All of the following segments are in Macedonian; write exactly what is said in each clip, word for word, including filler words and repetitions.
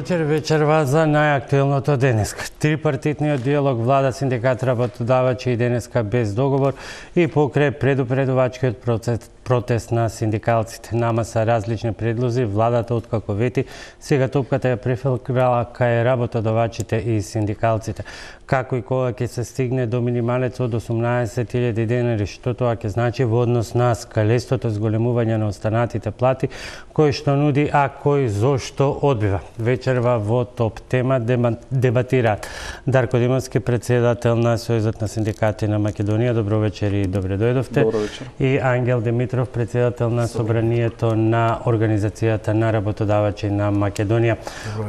вечер, вечерва за најактуелното денеска. Трипартитниот диалог влада, синдикат, работодавачи и денеска без договор и покрај предупредувачкиот процес протест на синдикалците. Нама са различни предлози, владата откако вети, сега топката ја префилкрала кај работодавачите и синдикалците. Како и кога ќе се стигне до минималец од осумнаесет илјади денари, што тоа ќе значи во однос на скалестото зголемување на останатите плати, кој што нуди, а кој зошто одбива. Вечерва во топ тема дебатираат Дарко Димовски, председател на Сојузот на синдикати на Македонија. Добро вечер и добре дојдовте. Добро вечер. И Ангел Димитров, председател на Собранието на Организацијата на работодавачи на Македонија.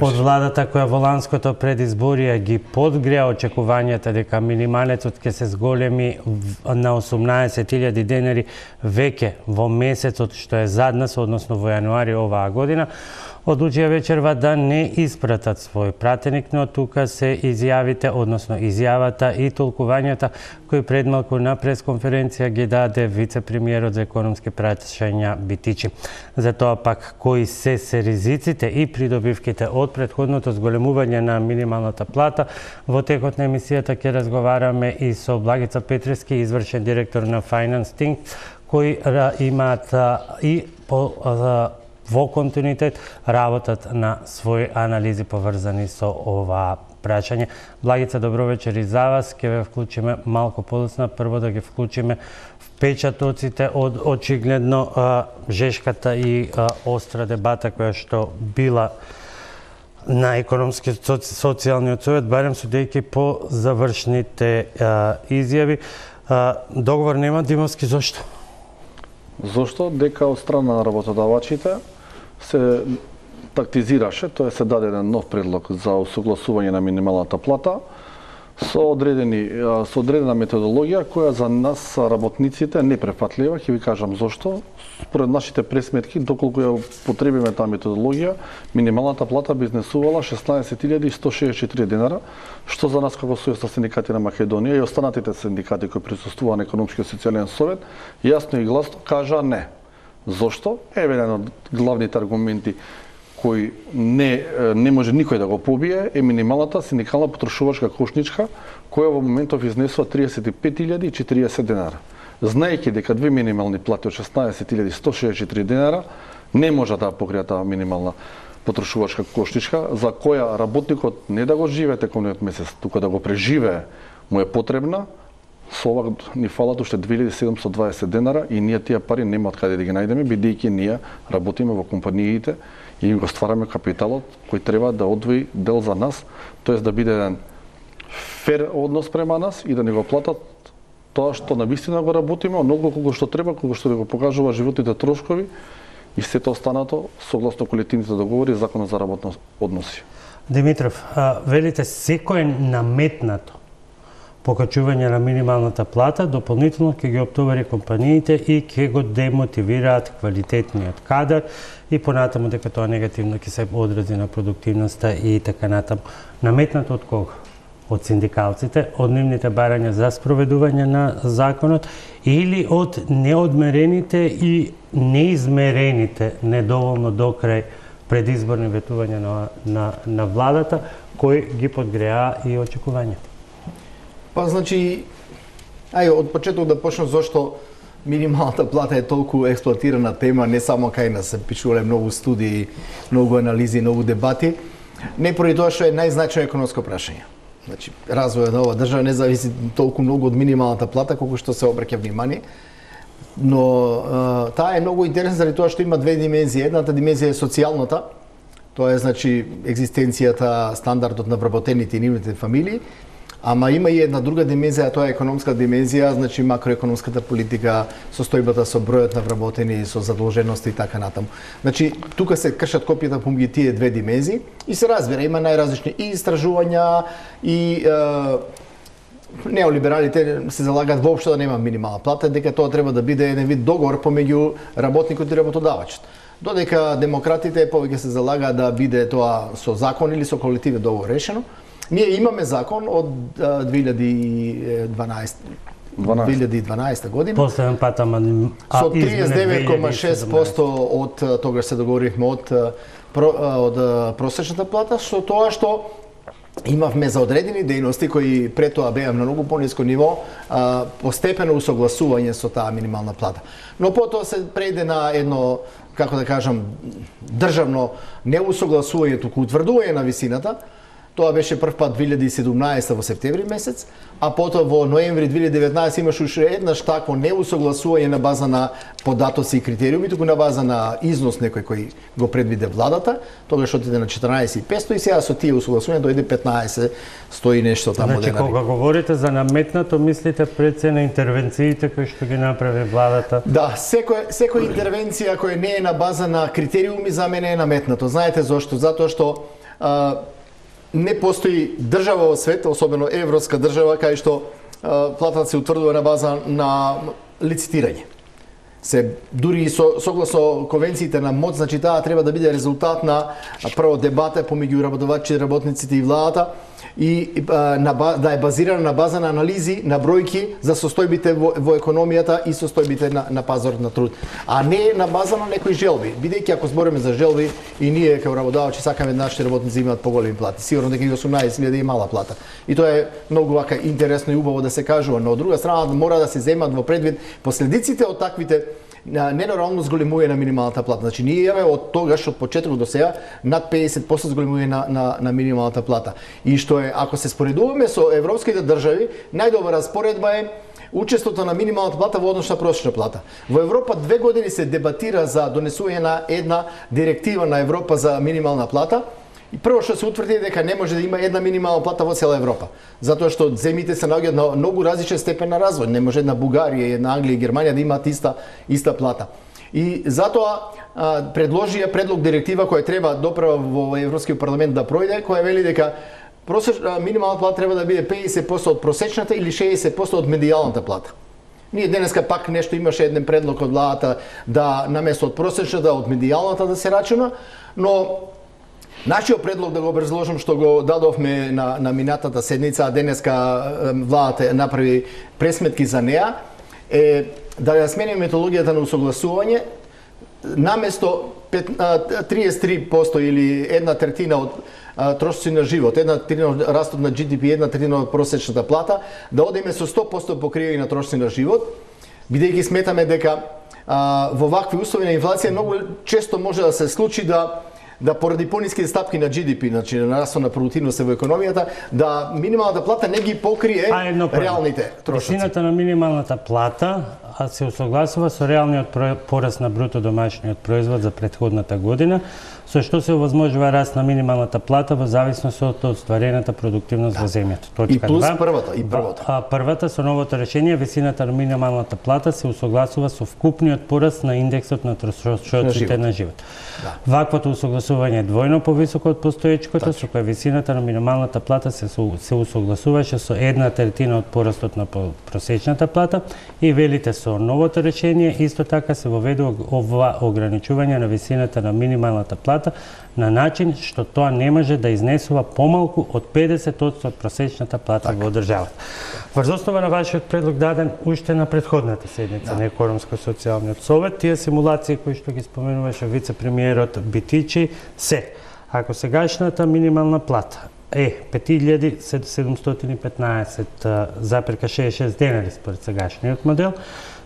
Од владата која во ланското предизборија ги подгреа очекувањата дека минималецот ќе се зголеми на осумнаесет илјади денари веќе во месецот што е зад нас, односно во јануари оваа година, одлучија вечерва да не испратат свој пратеник, но тука се изјавите, односно изјавата и толкувањата кои пред малку на пресконференција ги даде вице-премиерот за економски прашања Битичи. За тоа пак кои се се ризиците и придобивките од претходното зголемување на минималната плата, во текот на емисијата ќе разговараме и со Благица Петревски, извршен директор на Finance Think, кои имаат и по во континуитет работат на своји анализи поврзани со оваа прашање. Благица, добро вечер и за вас. Ке ве вклучиме малку подоцна. Прво да ги вклучиме впечатоците од очигледно а, жешката и а, остра дебата која што била на економски социјалниот совет, барем судејќи по завршните а, изјави. А, договор нема, Димовски, зошто? Зошто? Дека од страна на работодавачите се тактизираше, тоа се даде еден нов предлог за усогласување на минималната плата со одредени со одредена методологија која за нас работниците не префатлива. Ќе ви кажам зошто. Според нашите пресметки, доколку ја потребиме таа методологија, минималната плата би изнесувала шеснаесет илјади сто шеесет и четири денара, што за нас како Сојуз на синдикати на Македонија и останатите синдикати кои присуствуваа на економскиот социјален совет, јасно и гласно кажа не. Зошто? Еве еден од главните аргументи кои не, не може никој да го побие е минималната синдикална потрошувачка кошничка, која во моментов изнесува триесет и пет илјади и четириесет денара. Знаејќи дека две минимални плати од шеснаесет илјади сто шеесет и четири денара не може да покријат таа минимална потрошувачка кошничка, за која работникот не да го живее текомниот месец, туку да го преживее, му е потребна, со ова ни фалат уште две илјади седумстотини и дваесет денара и ние тие пари нема од каде да ги најдеме, бидејќи ние работиме во компаниите и го ствараме капиталот кој треба да одвои дел за нас, тоест да биде еден фер однос према нас и да ни го платат тоа што навистина го работиме, оноliko колку што треба, колку што го покажува животните трошкови и сето останато согласно колективните договори и законот за работни односи. Димитров, а, велите секој е наметнато покачување на минималната плата, дополнително ќе ги оптовари компаниите и ќе го демотивираат квалитетниот кадар и понатаму дека тоа негативно ќе се одрази на продуктивноста и така натаму. Наметнато од кого? Од синдикалците, од нивните барања за спроведување на законот или од неодмерените и неизмерените недоволно докрај предизборни ветувања на, на, на владата, кои ги подгреа и очекувања? Па, значи, ај, од почеток да почнем зошто минималната плата е толку експлоатирана тема, не само кај нас се пишувале многу студии, многу анализи, многу дебати, не поради тоа што е најзначајно економско прашање. Значи, развојот на оваа држава не зависи толку многу од минималната плата колку што се обраќа внимание, но а, таа е многу интересна заради тоа што има две димензии. Едната димензија е социјалната, тоа е значи екзистенцијата, стандардот на вработените и нивните фамилии. Ама има и една друга димензија, тоа е економска димензија, значи макроекономската политика, состојбата со бројот на вработени, со задолжености и така натаму. Значи, тука се кршат копијата помеѓу тие две димензии и се разбира, има најразлични и истражувања и е, неолибералите се залагаат воопшто да нема минимална плата, дека тоа треба да биде еден вид договор помеѓу работникот и работодавачот. Додека демократите повеќе се залагаат да биде тоа со закон или со колективен договор решено. Ние имаме закон од две илјади и дванаесета година. Последен пат, ама со триесет девет зарез шест проценти од тогаш се договоривме од про, од просечната плата, со тоа што имавме за одредени дејности кои пред тоа беа на многу пониско ниво, а, постепено усогласување со таа минимална плата. Но потоа се прејде на едно, како да кажам, државно неусогласување, туку утврдување на висината. Тоа беше прв пат две илјади и седумнаесета во септември месец, а потоа во ноември две илјади и деветнаесета имаше уште еднаш такво неусогласување на база на податоци и критериуми, туку на база на износ некој кој го предвиде владата, тогаш отиде на четрнаесет и петстотини и сега со тие усогласувања дојде петнаесет сто и нешто таму денари. Значи, кога говорите за наметнато, мислите пред се на интервенциите кои што ги направи владата? Да, секоја секоја интервенција која не е на база на критериуми за мене е наметнато. Знаете зошто? Затоа што а, не постои држава во свет, особено европска држава, кај што а, платата се утврдува на база на лицитирање. Се дури и со, согласно конвенциите на МОД, значи таа треба да биде резултат на прво дебата помеѓу работодавачите, работниците и владата и а, на, да е базирана на база на анализи, на бројки за состојбите во, во економијата и состојбите на, на пазарот на труд, а не на база на некои желби. Бидејќи ако збориме за желби и ние како работодавачи сакаме нашите работници имаат поголеми плати, сигурно дека и осумнаесет илјади е мала плата. И тоа е многу вака интересно и убаво да се кажува, но од друга страна мора да се земат во предвид последиците од таквите ненормално зголемување на минималната плата. Значи ние имаме од тогаш од почетокот до сега над педесет проценти зголемување на, на на минималната плата. И што е, ако се споредуваме со европските држави, најдобра споредба е учеството на минималната плата во однос на просечна плата. Во Европа две години се дебатира за донесување на една директива на Европа за минимална плата. И прво што се утврди дека не може да има една минимална плата во цела Европа, затоа што земјите се наоѓаат на многу различен степен на развој. Не може една Бугарија, една Англија и Германија да имаат иста иста плата. И затоа а, предложија предлог директива која треба доправа во Европскиот парламент да пројде, која вели дека просеч, минимална плата треба да биде педесет проценти од просечната или шеесет проценти од медијалната плата. Ние денеска пак нешто имаше еден предлог од владата да наместо од просечната од медијалната да се рачуна, но нашиот предлог, да го образложам, што го дадовме на, на минатата седница, а денеска владата направи пресметки за неа, е да ја смениме методологијата на усогласување, наместо триесет и три проценти или една третина од трошоци на живот, една третина од растот на Джи Ди Пи, една третина од просечната плата, да одиме со сто проценти покривање на трошоци на живот, бидејќи сметаме дека а, во вакви услови на инфлација многу често може да се случи да да поради пониски стапки на Джи Ди Пи, значи на нараста на продуктивност во економијата, да минималната плата не ги покрие реалните трошоци. Висината на минималната плата се усогласува со реалниот пораст на бруто домашниот производ за претходната година, со што се овозможува раст на минималната плата во зависност од остварената продуктивност во земјата. Точка и плюс два, првата, и првата. А првата со новото решение висината на минималната плата се усогласува со вкупниот пораст на индексот на трошоците на живот. Да. Ваквото усогласување е двојно повисоко од постоечкото, со кој висината на минималната плата се се усогласуваше со една третина од порастот на просечната плата и велите со новото решение исто така се воведува ова ограничување на висината на минималната плата на начин што тоа не може да изнесува помалку од педесет проценти од просечната плата так. Во државата. Врз основа на вашиот предлог даден уште на претходната седница да. На Економско-социјалниот совет, тие симулации кои што ги споменуваше вице-премиерот Битичи се, ако сегашната минимална плата е пет илјади седумстотини и петнаесет запирка шеесет и шест денари според сегашниот модел,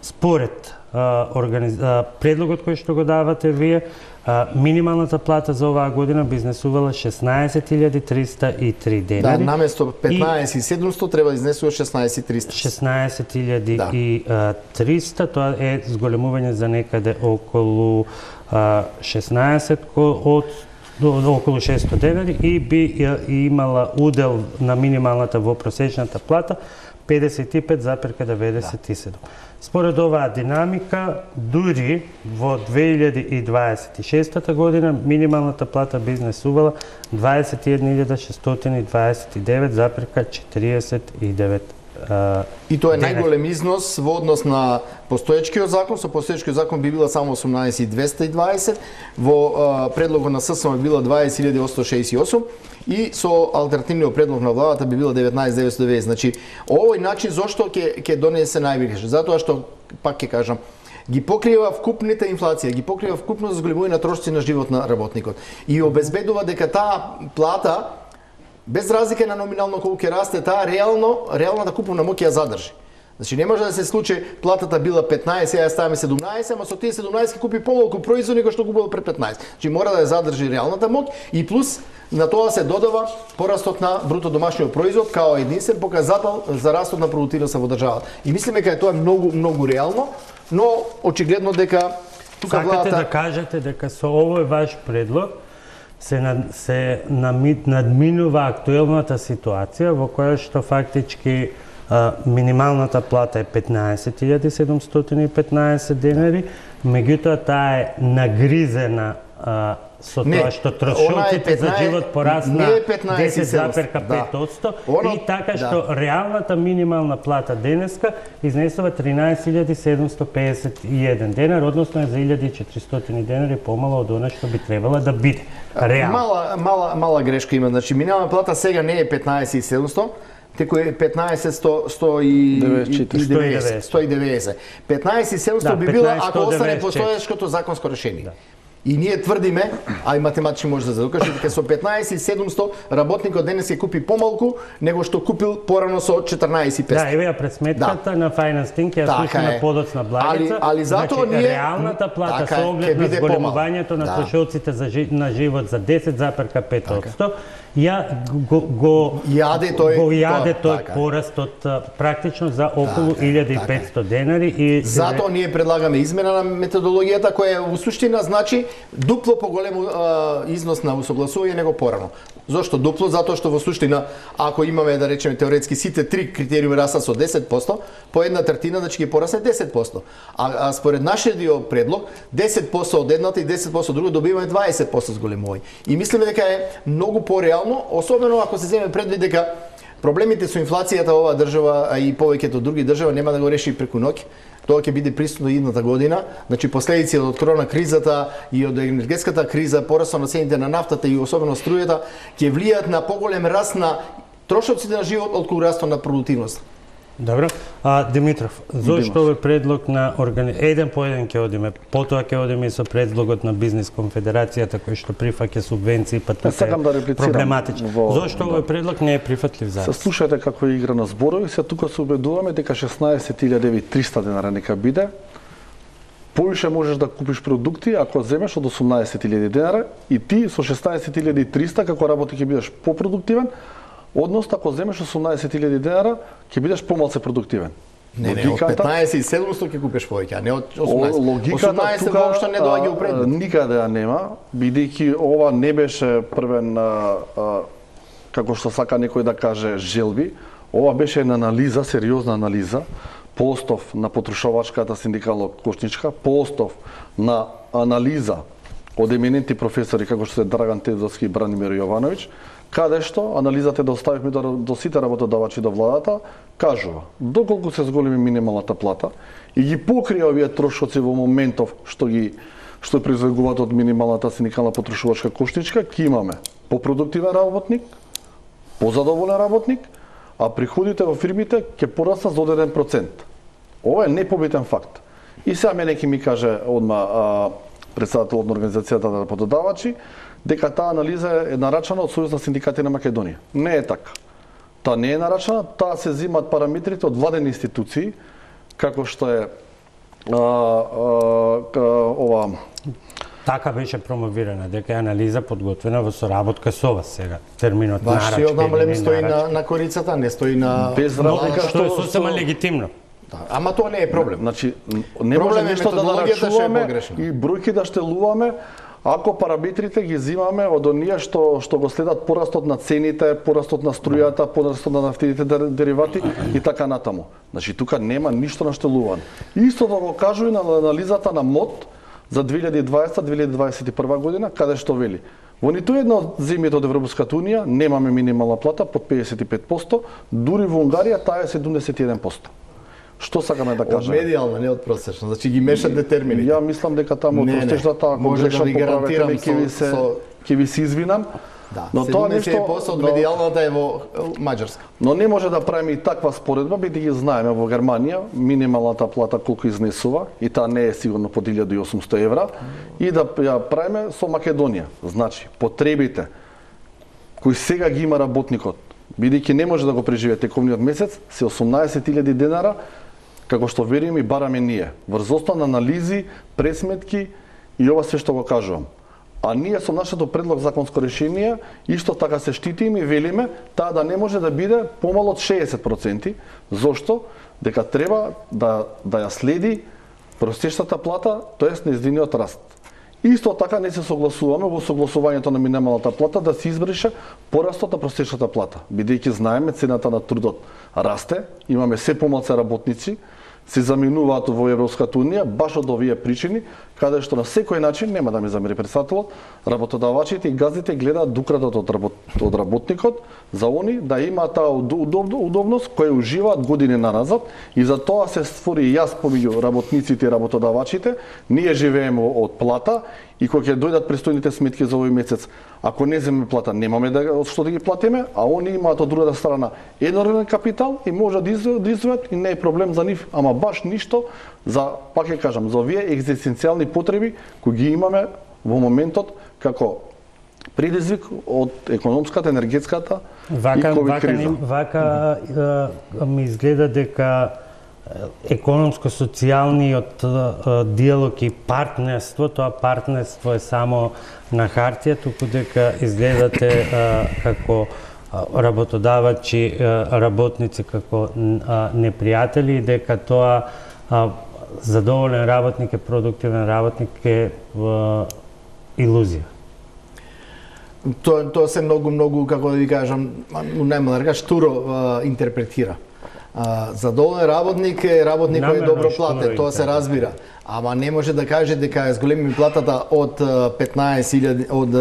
според а, организ... а, предлогот кој што го давате вие, а, минималната плата за оваа година би изнесувала шеснаесет илјади триста и три денари. Да, наместо петнаесет илјади и седумстотини треба да изнесува шеснаесет илјади триста. шеснаесет илјади и триста, тоа е зголемување за некаде околу а, шеснаесет од околу шестстотини денари и би имала удел на минималната во просечната плата педесет и пет запирка деветдесет и седум. Според оваа динамика, дури во две илјади и дваесет и шеста година минималната плата би изнесувала дваесет и една илјада шестстотини дваесет и девет запирка четиридесет и девет. И тоа е најголем износ во однос на постоечкиот закон. Со постоечкиот закон би била само осумнаесет илјади двесте и дваесет, во предлогот на ССМ би била дваесет илјади осумстотини шеесет и осум и со алтернативниот предлог на владата би била деветнаесет илјади деветстотини и деветдесет. Значи, овој начин зошто ќе ќе донесе највише? Затоа што, пак ќе кажам, ги покрива вкупната инфлација, ги покрива вкупно зголемување на трошоци на живот на работникот и обезбедува дека таа плата без разлика на номинално колку ќе расте, таа реално реалната купувна моќ ја задржи. Значи не може да се случи платата била петнаесет, сега ставаме седумнаесет, ама со тие седумнаесет ќе купи помалку производи кои што купувал пред петнаесет. Значи мора да ја задржи реалната моќ и плюс на тоа се додава порастот на бруто домашниот производ као единствен показател за растот на продуктивноста во државата. И мислиме дека тоа е многу многу реално, но очигледно дека тука Сакате владата да кажете дека со овој ваш предлог се над, се намит, надминува актуелната ситуација во која што фактички а, минималната плата е петнаесет илјади седумстотини и петнаесет денари, меѓутоа таа е нагризена а, со Не, тоа што трошоците за живот порасна десет запир пет одсто Оно- и така да. што реалната минимална плата денеска изнесува тринаесет илјади седумсто пеесет и еден денар, односно е за илјада и четиристотини денари помало од она што би требала да биде. Реално. Мала, мала, мала грешка има. Значи, минимална плата сега не е петнаесет и седумсто, теку е петнаесет сто и деветдесет. сто и деветдесет. петнаесет и седумсто Да, би била петнаесет ако остане деветдесет и четири. постоечкото законско решение. Да. И ние тврдиме, а и математички може да задокаже, дека со петнаесет и седумсто работникот денес ќе купи помалку него што купил порано со четрнаесет и петсто. Да, еве ја пресметката Да. на Finance Think, ја Така слуша на е. подоцна благица. Али- али затоа значи, ние- реалната плата така е, со ќе оглед на биде зголемувањето помала. на Да. трошоците за жи, на живот за десет запир пет одсто, ја го го Јаде тој- го јаде тоа, тој така е. пораст од а, практично за околу Така е, илјада и така е. петсто денари и Затоа ние предлагаме измена на методологијата која во суштина значи дупло поголем а, износ на усогласување него порано. Зошто дупло? Затоа што во суштина ако имаме да речеме теоретски сите три критериуми растат со десет одсто, по една третина значи ќе порасне десет одсто. А, а според нашиот дио предлог десет одсто од едната и десет одсто од друга добиваме дваесет одсто зголемување. И мислиме дека е многу пореално, особено ако се земе предвид дека проблемите со инфлацијата во оваа држава, а и повеќето други држави нема да го реши преку ноќ. Тоа ќе биде присутно идната година. Значи последици од корона кризата и од енергетската криза, порасот на цените на нафтата и особено струјата ќе влијаат на поголем раст на трошоците на живот отколку растот на продуктивност. Добро. А, Димитров, зошто овој предлог на органи... еден по еден ќе одиме, потоа ќе одиме и со предлогот на Бизнис конфедерацијата кој што прифаќа субвенции, па тука сакам да е реплицирам проблематичен. во- Зошто овој предлог не е прифатлив за Се вас? слушате како е игра на зборови, се тука се убедуваме дека шеснаесет илјади и триста денара нека биде. Поише можеш да купиш продукти ако земеш од осумнаесет илјади денара и ти со шеснаесет илјади и триста како работник ќе бидеш попродуктивен, односно ако земеш осумнаесет илјади денара ќе бидеш помалку продуктивен. Не, не, од петнаесет и седумсто ќе купиш повеќе, а не од осумнаесет. Логиката осумнаесет тука воопшто не доаѓа у а, предвид. никаде ја нема, бидејќи ова не беше првен а, а, како што сака некој да каже желби, ова беше една анализа, сериозна анализа, по остов на потрошувачката синдикално кошничка, по остов на анализа од еминенти професори како што се Драган Тедовски и Бранимир Јовановиќ, каде што анализата да оставивме до, до сите работодавачи до владата, кажува доколку се зголеми минималната плата и ги покрија овие трошоци во моментов што ги што произлегуваат од минималната синдикална потрошувачка кошничка, ќе имаме попродуктивен работник, позадоволен работник, а приходите во фирмите ќе пораснат за одреден процент. Ова е непобитен факт. И сега мене ќе ми каже одма а, председателот на организацијата на работодавачи дека таа анализа е нарачана од Сојуз на синдикати на Македонија. Не е така. Таа не е нарачана, таа се земат параметрите од владени институции, како што е а, а, ова Така беше промовирана, дека е анализа подготвена во соработка со вас сега. Терминот нарачка. Вашиот намалем или стои нарачка. на, на корицата, не стои на... без Но, разлика што е што сосема со- легитимно. Да, ама тоа не е проблем. Значи, не може Проблем е нешто да методологијата што е нарачуваме погрешна. и бројки да штелуваме, ако параметрите ги зимаме од оние што што го следат порастот на цените, порастот на струјата, порастот на нафтените дер- деривати и така натаму. Значи тука нема ништо наштелувано. Исто да го кажува и на анализата на МОД за две илјади и дваесета две илјади дваесет и прва година, каде што вели во ниту една од земјите од Европската унија немаме минимална плата под педесет и пет одсто, дури во Унгарија таа е седумдесет и еден одсто. Што сакаме да Од кажеме? медијална, не од просечно. Значи ги мешате термини. Ја мислам дека таму од Не, не. простежната, ако Може да грешам ви поправете гарантирам ме, ќе ви со- се со- ќе ви се извинам, Да, Но тоа седумдесет проценти од медијалната е во Маđарска. Но не може да правиме и таква споредба, бидејќи знаеме во Германија минималната плата колку изнесува и таа не е сигурно под илјада и осумсто евра и да ја правиме со Македонија. Значи, потребите кои сега ги има работникот, бидејќи не може да го преживее тековниот месец, се осумнаесет илјади денара, како што вериме и бараме ние, врз основа на анализи, пресметки и ова се што го кажувам. А ние со нашето предлог законско решение исто така се штитиме и велиме таа да не може да биде помало од шеесет проценти. Зошто? Дека треба да да ја следи просечната плата, тоест нејзиниот раст. Исто така не се согласуваме во согласувањето на минималната плата да се избрише порастот на просечната плата, бидејќи знаеме цената на трудот расте, имаме се помалку работници, се заминуваат во Европската унија баш од овие причини, каде што на секој начин, нема да ми замери претседателот, работодавачите и газдите гледаат да украдат од, работ, од работникот за они да има таа удоб, удобност која уживаат години назад и за тоа се створи јас помеѓу работниците и работодавачите. Ние живееме од плата и кога ќе дојдат престојните сметки за овој месец, ако не земеме плата, немаме да од што да ги платиме, а они имаат од другата страна енормен капитал и може да издвојат и не е проблем за нив, ама баш ништо за, пак ќе кажам, за овие екзистенцијални потреби кои ги имаме во моментот како предизвик од економската, енергетската вака, и ковид вака, криза. Вака е, ми изгледа дека економско-социјалниот диалог и партнерство, тоа партнерство е само на хартија, туку дека изгледате е, како работодавачи, работници како непријатели и дека тоа задоволен работник е продуктивен работник е илузија. Тоа тоа се многу многу како да ви кажам, најмалку штуро интерпретира. Задоволен работник е работник кој е добро платен, тоа се разбира. Ама не може да каже дека зголеми платата од петнаесет илјади од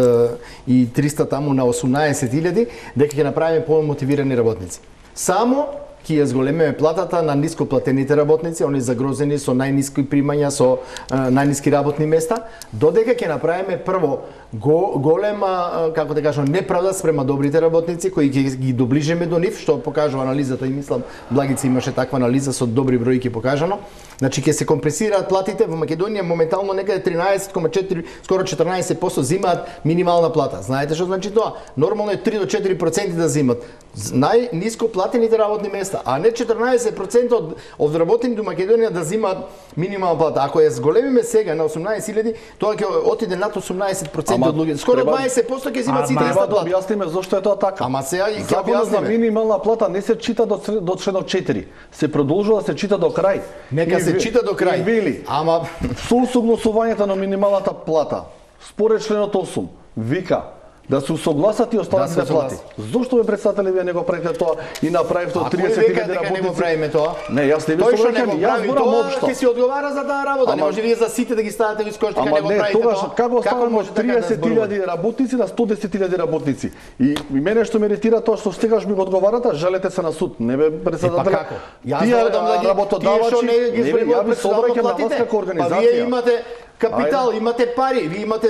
и триста таму на осумнаесет илјади, дека ќе направиме помотивирани работници. Само ќе ја зголемиме платата на ниско платените работници, они загрозени со најниски примања, со најниски работни места, додека ќе направиме прво го, голема, како да кажам, неправда спрема добрите работници кои ќе ги доближиме до нив, што покажува анализата и мислам Благица имаше таква анализа со добри бројки покажано. Значи ќе се компресираат платите во Македонија моментално некаде тринаесет зарез четири, скоро четрнаесет проценти земаат минимална плата. Знаете што значи тоа? Нормално е три до четири проценти да земат најниско платените работни места, а не четрнаесет проценти од од работените во Македонија да земаат минимална плата. Ако ја зголемиме сега на осумнаесет илјади, тоа ќе отиде над осумнаесет проценти од луѓето. Скоро дваесет проценти ќе земаат сите иста плата. Да објасниме зошто е тоа така. Ама сега ќе Законот за минимална плата не се чита до до членот четири. Се продолжува да се чита до крај. Нека се чита до крај. Вели, ама со усогласувањето на минималната плата, според членот осум, вика да се усогласат и останатите да плати. Зошто ме претседатели вие не го правите тоа и направивте од триесет илјади работници? Не го правиме тоа. Не, јас не ви собраќам, јас зборам општо. Ќе си одговара за таа работа, не може вие за сите да ги ставате во искош дека не го правите тоа. Ама како ставаме од триесет илјади работници на сто десет илјади работници? И мене што ме иritira тоа што стигаш ми го одговарате, жалете се на суд. Не бе претседател. Па како? Јас додам да ги работодавачи, не ги зборувам председател на вас како организација. Па вие имате капитал, имате пари, ви имате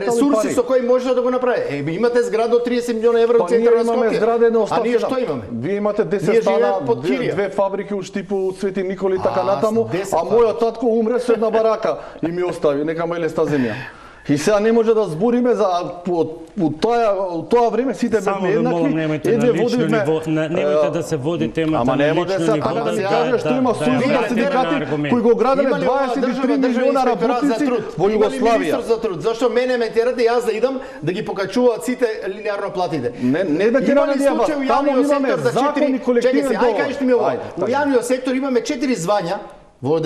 ресурси со кои може да го направите. Е, имате зграда од триесет милиона евра во центар на Скопје. А ние што имаме? Вие имате десет стана, две, две фабрики у Штипу, Свети Николи и така натаму, а мојот татко умре со една барака и ми остави, нека ме леста земја. И сега не може да збориме за во тоа тоа време сите бевме еднакви. Едве водиме немојте да се води темата на лично ниво. Ама не може да се каже што има сојуз на синдикати кои го граделе дваесет и три милиона работници во Југославија. Министер за труд. Зашто мене ме терате јас да идам да ги покачуваат сите линеарно платите? Не, не да тераме ние, таму имаме закон и колективен договор. Ај кажете ми ова. Во јавниот сектор имаме четири звања во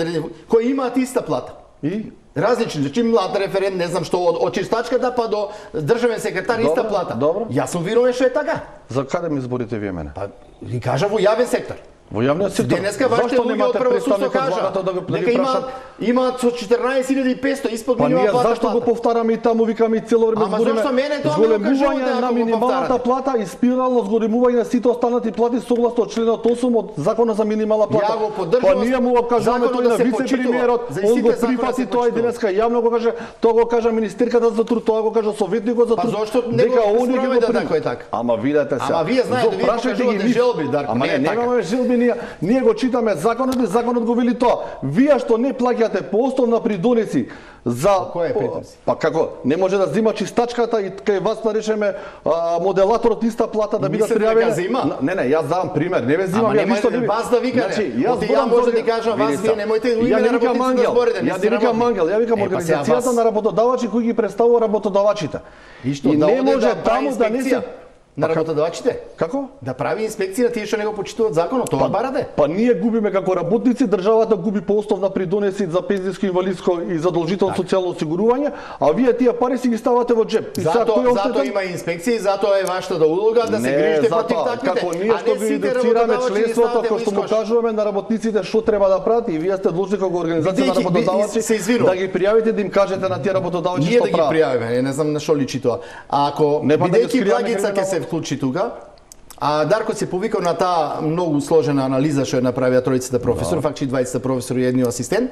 кои имаат иста плата. И различни, значи млад референт, не знам што, од, од чистачката па до државен секретар иста плата. Добро. Јас сум верувам што е така. За каде ми зборите вие мене? Па ви кажа во јавен сектор. Во јавниот сектор. Денеска вашите луѓе од правосудство кажа да го дека има имаат со четрнаесет илјади и петсто испод минимална плата. Па ние зашто го повтараме и таму викаме и цело време збориме зголемување на минималната плата и спирално зголемување на сите останати плати согласно членот осум од Законот за минимална плата. Ја го поддржувам. Па ние му го кажаме тој на вице-премиерот, он го прифати тоа и денеска јавно го каже, тоа го кажа министерката за труд, тоа го кажа советникот за труд. Па зошто не го спроведе така и така? Ама видете се. Ама вие знаете, вие покажувате желби, Дарко, не е така. Ама немаме желби ние, ние го читаме законот и законот го вели тоа. Вие што не плаќате по основна придонеси за кој е придонеси? Па како не може да зима чистачката и кај вас да речеме а, моделаторот иста плата да бидат пријавени. Не, не, јас давам пример, не ве зимам ја ништо не вас да викате. Значи, јас ја може да кажам вас вие немојте име на работници да зборите. Ја не викам ангел, ја викам организацијата на работодавачи кои ги представува работодавачите. И што и да не може таму да не се на работодавачите? Како? Да прави инспекција на тие што не го почитуваат законот, тоа барате? Па ние губиме како работници, државата губи по основна придонеси за пензијско, инвалидско и задолжително социјално осигурување, а вие тие пари си ги ставате во џеп. И затоа затоа има инспекција и затоа е вашата да улога да се грижите против таквите. Како ние што ги едуцираме членството, како што му кажуваме на работниците што треба да прават и вие сте длжни како организација на работодавачи да ги пријавите, да им кажете на тие работодавачи што прават. Ние да ги пријавиме, не знам на што личи тоа. Ако бидејќи Благица ќе се вклучи тука, а Дарко се повикал на таа многу сложена анализа што ја направија тројцата професори, факти дваесет професори и едниот асистент,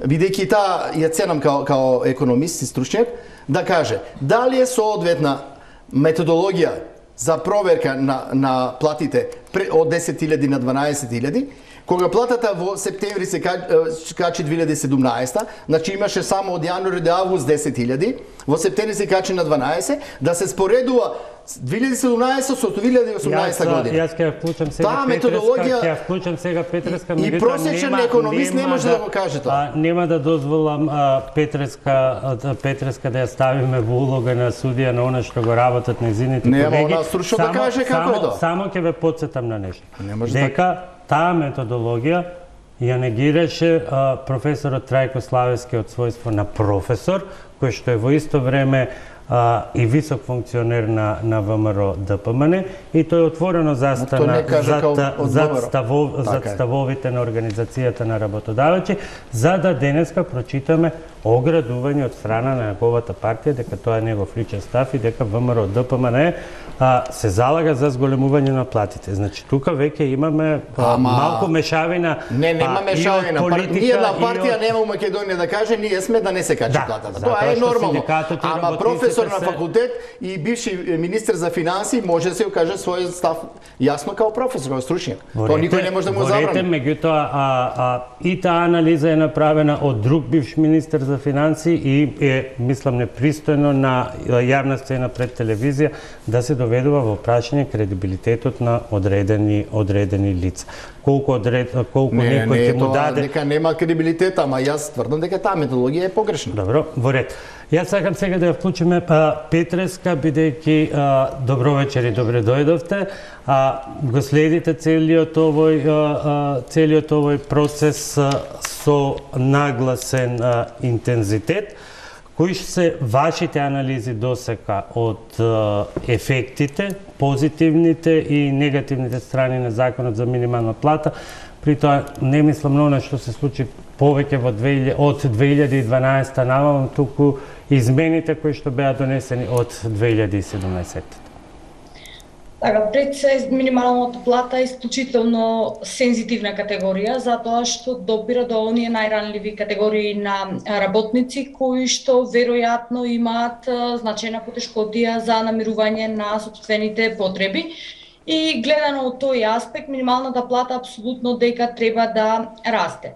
бидејќи таа ја ценам као, као економист и стручњак, да каже дали е соодветна методологија за проверка на, на платите од десет илјади на дванаесет илјади, кога платата во септември се качи две илјади и седумнаесета, значи имаше само од јануари до август десет илјади, во септември се качи на дванаесет, да се споредува две илјади и седумнаесета со две илјади и осумнаесета година. Јас ќе ја вклучам сега Таа методологија, ќе ја вклучам сега Петреска, и просечен економист не може да го каже тоа. Нема да дозволам а, Петреска а, Петреска да ја ставиме во улога на судија на она што го работат нејзините колеги. Нема она стручно да каже како е тоа. Само ќе ве потсетам на нешто. Дека таа методологија ја негираше а, професорот Трајко Славевски од својство на професор, кој што е во исто време а, и висок функционер на, на ВМРО ДПМН, и тој отворено застана зад, зад, ставов, зад ставовите на Организацијата на работодавачи, за да денеска прочитаме оградување од страна на неговата партија дека тоа е негов личен став и дека ВМРО ДПМН а, се залага за зголемување на платите. Значи тука веќе имаме а, Ама... малку мешавина. Не, нема мешавина. Ние една партија от... нема у Македонија да каже ние сме да не се качи да, платата. Тоа е нормално. Ама професор на факултет и бивши министер за финансии може да се каже својот став јасно као професор, као стручњак. Тоа никој не може да му забрани. Меѓутоа, а, а, и таа анализа е направена од друг бивш министер за финансии и е, мислам, непристојно на јавна сцена пред телевизија да се доведува во прашање кредибилитетот на одредени одредени лица. Колку одред, колку не, некој ќе му даде дека нема кредибилитет, ама јас тврдам дека таа методологија е погрешна. Добро, во ред. Јас сакам сега да ја вклучиме Петреска, бидејќи добро вечер и добре дојдовте. А, го следите целиот овој а, целиот овој процес а, со нагласен а, интензитет. Кои се вашите анализи досека од а, ефектите, позитивните и негативните страни на законот за минимална плата? При тоа не мислам на она што се случи повеќе во од две илјади и дванаесета наваму, туку измените кои што беа донесени од две илјади и седумнаесета. Така, пред се минималната плата е исклучително сензитивна категорија, затоа што допира до оние најранливи категории на работници кои што веројатно имаат значајна потешкотија за намирување на сопствените потреби. И гледано од тој аспект, минималната плата апсолутно дека треба да расте.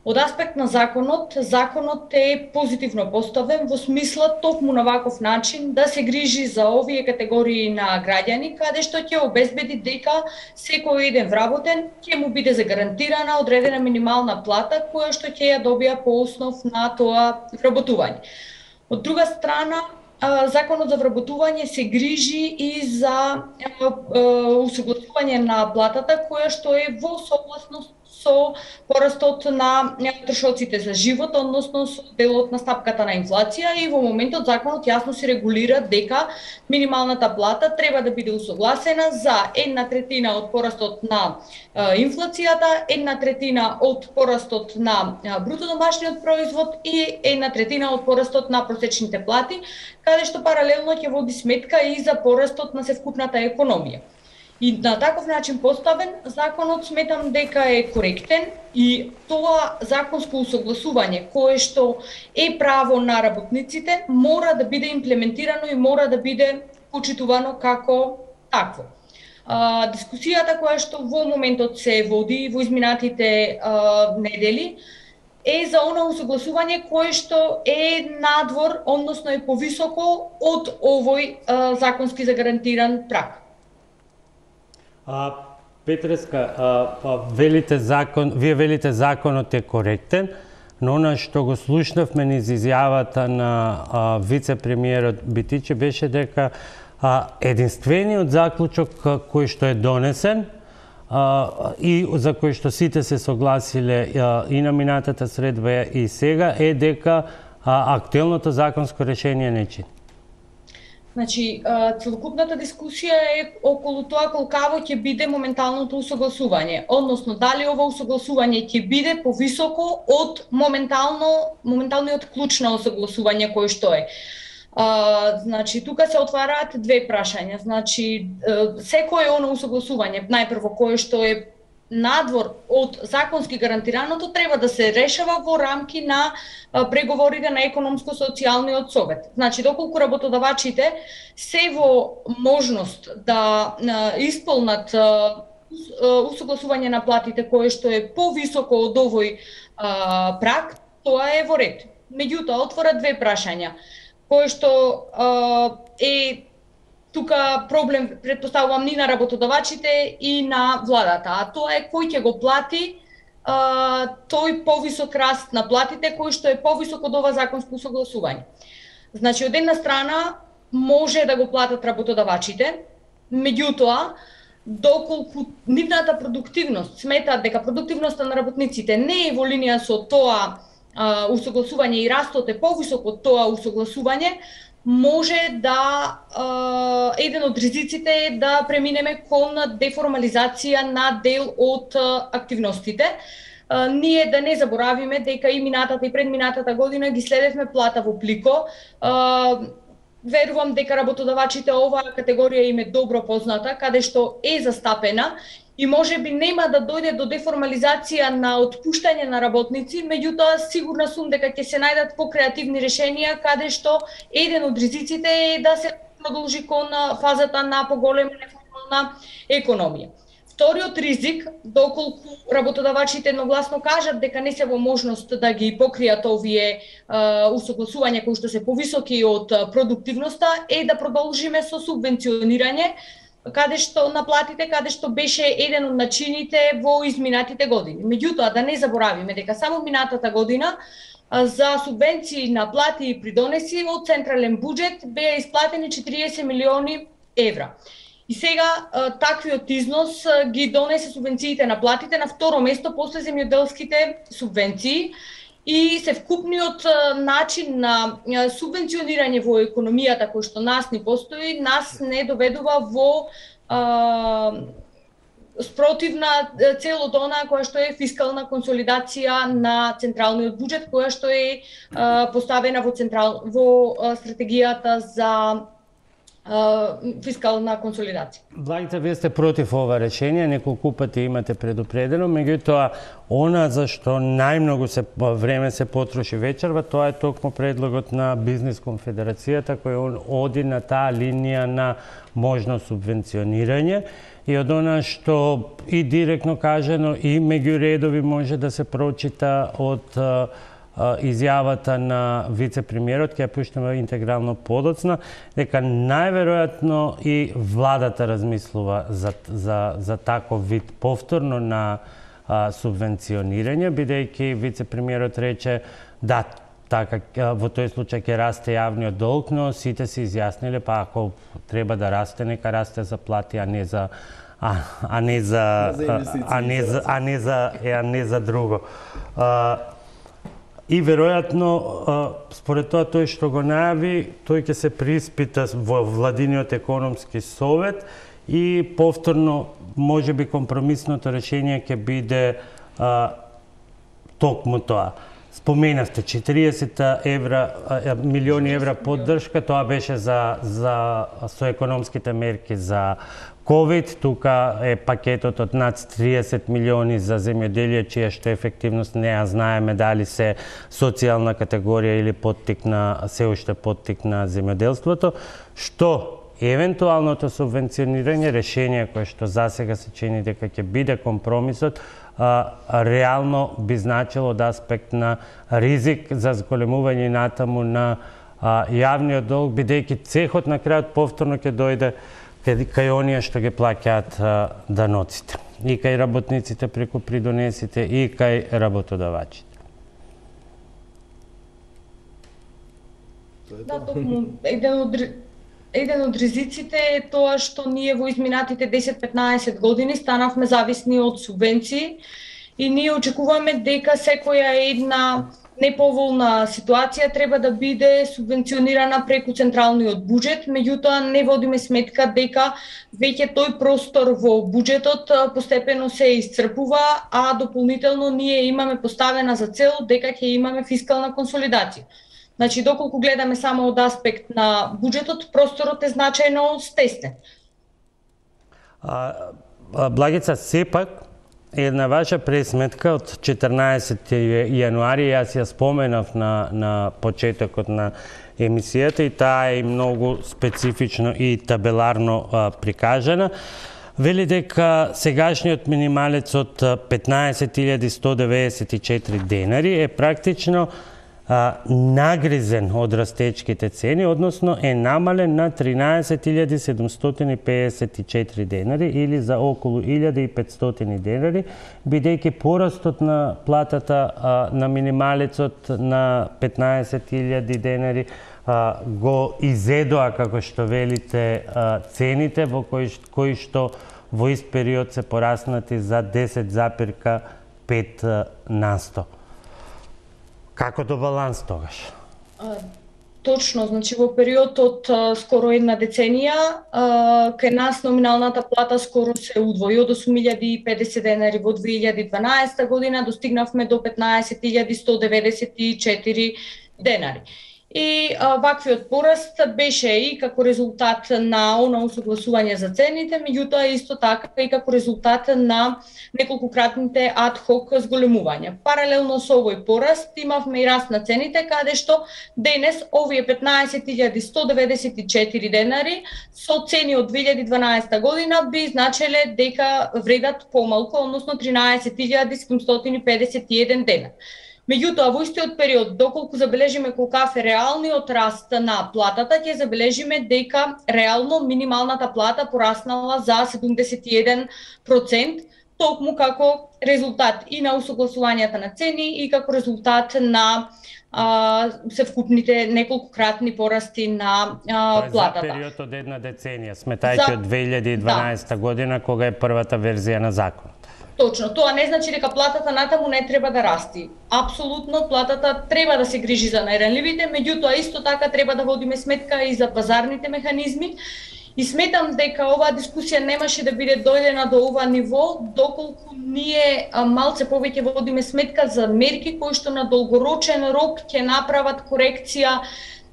Од аспект на законот, законот е позитивно поставен во смисла токму на ваков начин да се грижи за овие категории на граѓани, каде што ќе обезбеди дека секој еден вработен ќе му биде загарантирана одредена минимална плата која што ќе ја добија по основ на тоа вработување. Од друга страна, законот за вработување се грижи и за усогласување на платата која што е во согласност со порастот на трошоците за живот, односно со делот на стапката на инфлација, и во моментот законот јасно се регулира дека минималната плата треба да биде усогласена за една третина од порастот на е, инфлацијата, една третина од порастот на е, бруто домашниот производ и една третина од порастот на просечните плати, каде што паралелно ќе води сметка и за порастот на севкупната економија. И на таков начин поставен, законот сметам дека е коректен, и тоа законско усогласување кое што е право на работниците мора да биде имплементирано и мора да биде почитувано како такво. А, дискусијата која што во моментот се води во изминатите а, недели е за она усогласување кое што е надвор, односно е повисоко од овој а, законски загарантиран праг. А, Петреска, а, а, велите закон, вие велите законот е коректен, но она што го слушнавме низ изјавата на а, вице-премиерот Битиче беше дека а, единствениот заклучок кој што е донесен а, и за кој што сите се согласиле а, и на минатата средба и сега е дека а, актуелното законско решение не чини. Значи, целокупната дискусија е околу тоа колкаво ќе биде моменталното усогласување, односно дали ова усогласување ќе биде повисоко од моментално моменталниот клуч на усогласување кој што е. А, значи, тука се отвараат две прашања. Значи, секое оно усогласување, најпрво кое што е надвор од законски гарантираното, треба да се решава во рамки на преговорите на економско-социјалниот совет. Значи, доколку работодавачите се во можност да исполнат усогласување на платите кое што е повисоко од овој а, праг, тоа е во ред. Меѓутоа, отвора две прашања, кое што а, е тука проблем, предпоставувам, ни на работодавачите и на владата, а тоа е кој ќе го плати а, тој повисок раст на платите, кој што е повисок од ова законско согласување. Значи, од една страна може да го платат работодавачите, меѓутоа, доколку нивната продуктивност сметаат дека продуктивноста на работниците не е во линија со тоа а, усогласување и растот е повисок од тоа усогласување, може да е, еден од ризиците е да преминеме кон деформализација на дел од активностите. Е, ние да не заборавиме дека и минатата и предминатата година ги следевме плата во плико. Е, верувам дека работодавачите оваа категорија им е добро позната, каде што е застапена, и може би нема да дојде до деформализација на отпуштање на работници, меѓутоа сигурна сум дека ќе се најдат покреативни решенија, каде што еден од ризиците е да се продолжи кон фазата на поголема неформална економија. Вториот ризик, доколку работодавачите едногласно кажат дека не се во можност да ги покријат овие а, усогласувања кои што се повисоки од продуктивноста, е да продолжиме со субвенционирање, каде што на платите, каде што беше еден од начините во изминатите години. Меѓутоа, да не заборавиме дека само минатата година за субвенции на плати и придонеси од централен буџет беа исплатени четириесет милиони евра. И сега таквиот износ ги донесе субвенциите на платите на второ место после земјоделските субвенции, и севкупниот начин на субвенционирање во економијата кој што нас ни постои, нас не доведува во а, спротивна целот она која што е фискална консолидација на централниот буџет, која што е а, поставена во централ во а, стратегијата за фискална консолидација. Благица, вие сте против ова решение, неколку пати имате предупредено, меѓутоа она за што најмногу се време се потроши вечерва, тоа е токму предлогот на Бизнис конфедерацијата кој он оди на таа линија на можно субвенционирање, и од она што и директно кажано и меѓу редови може да се прочита од изјавата на вице-премиерот, ќе ја пуштаме интегрално подоцна, дека најверојатно и владата размислува за, за, за таков вид повторно на а, субвенционирање, бидејќи вице-премиерот рече да, така, во тој случај ќе расте јавниот долг, но сите се изјасниле, па ако треба да расте, нека расте за плати, а не за а, а не за за а не за а не за а не за друго. А, и веројатно според тоа тој што го најави, тој ќе се приспита во владиниот економски совет и повторно можеби компромисното решение ќе биде а, токму тоа. Споменавте четириесет евра, милиони евра поддршка, тоа беше за за со економските мерки за ковид, тука е пакетот од над триесет милиони за земјоделие, чија што ефективност не ја знаеме дали се социјална категорија или поттик на се уште поттик на земјоделството, што евентуалното субвенционирање, решение кое што засега се чини дека ќе биде компромисот, а, реално би значило од аспект на ризик за зголемување натаму на а, јавниот долг, бидејќи цехот на крајот повторно ќе дојде кај оние што ги плаќаат даноците. И кај работниците преку придонесите, и кај работодавачите. Да, токму еден од еден од ризиците е тоа што ние во изминатите десет-петнаесет години станавме зависни од субвенции и ние очекуваме дека секоја една неповолна ситуација треба да биде субвенционирана преку централниот буџет, меѓутоа не водиме сметка дека веќе тој простор во буџетот постепено се исцрпува, а дополнително ние имаме поставена за цел дека ќе имаме фискална консолидација. Значи, доколку гледаме само од аспект на буџетот, просторот е значајно стеснет. Благица, сепак, една ваша пресметка од четрнаесети јануари, јас ја споменав на, на почетокот на емисијата и таа е многу специфично и табеларно а, прикажана. Вели дека сегашниот минималец од петнаесет илјади сто деветдесет и четири денари е практично а, нагризен од растечките цени, односно е намален на тринаесет илјади седумстотини педесет и четири денари или за околу илјада и петстотини денари, бидејќи порастот на платата а, на минималецот на петнаесет илјади денари а, го изедоа, како што велите, а, цените во кои, кои што во ист период се пораснати за десет запир пет на сто. Како до баланс тогаш? А, точно, значи во период од а, скоро една деценија, а, кај нас номиналната плата скоро се удвои од осум илјади и педесет денари во две илјади дванаесета година, достигнавме до петнаесет илјади сто деветдесет и четири денари. И а, ваквиот пораст беше и како резултат на она усогласување за цените, меѓутоа исто така и како резултат на неколкократните ад-хок зголемувања. Паралелно со овој пораст имавме и раст на цените, каде што денес овие петнаесет илјади сто деветдесет и четири денари со цени од две илјади дванаесета година би значеле дека вредат помалку, односно тринаесет илјади седумстотини педесет и еден денар. Меѓутоа, во истиот период, доколку забележиме колкав е реалниот раст на платата, ќе забележиме дека реално минималната плата пораснала за седумдесет и еден процент, токму како резултат и на усогласувањата на цени и како резултат на а, севкупните неколкократни порасти на а, платата. За период од една деценија, сметајќи од две илјади и дванаесета да. година, кога е првата верзија на закон. Точно, тоа не значи дека платата натаму не треба да расти. Апсолутно, платата треба да се грижи за најранливите, меѓутоа исто така треба да водиме сметка и за пазарните механизми. И сметам дека оваа дискусија немаше да биде дојдена до ова ниво, доколку ние малце повеќе водиме сметка за мерки кои што на долгорочен рок ќе направат корекција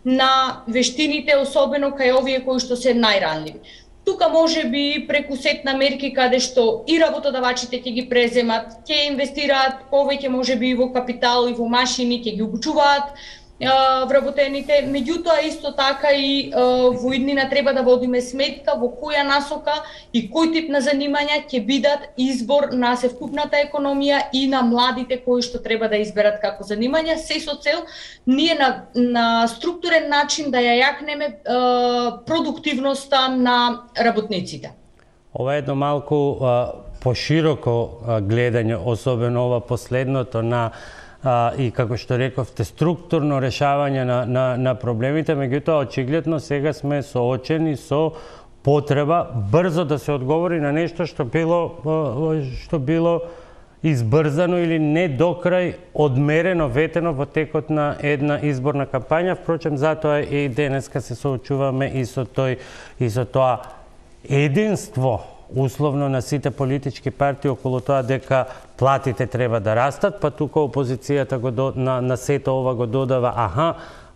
на вештините, особено кај овие кои што се најранливи. Тука може би преку сет на мерки каде што и работодавачите ќе ги преземат, ќе инвестираат повеќе може би во капитал и во машини, ќе ги обучуваат вработените, меѓутоа исто така и во иднина треба да водиме сметка во која насока и кој тип на занимања ќе бидат избор на севкупната економија и на младите кои што треба да изберат како занимања, се со цел ние на, на структурен начин да ја јакнеме е, продуктивноста на работниците. Ова е едно малку а, пошироко а, гледање, особено ова последното на А, и како што рековте, структурно решавање на, на, на проблемите, меѓутоа очигледно сега сме соочени со потреба брзо да се одговори на нешто што било што било избрзано или не до крај одмерено, ветено во текот на една изборна кампања. Впрочем, затоа и денеска се соочуваме и со тој и со тоа единство условно на сите политички партии околу тоа дека платите треба да растат, па тука опозицијата го до, на, на сето ова го додава аха,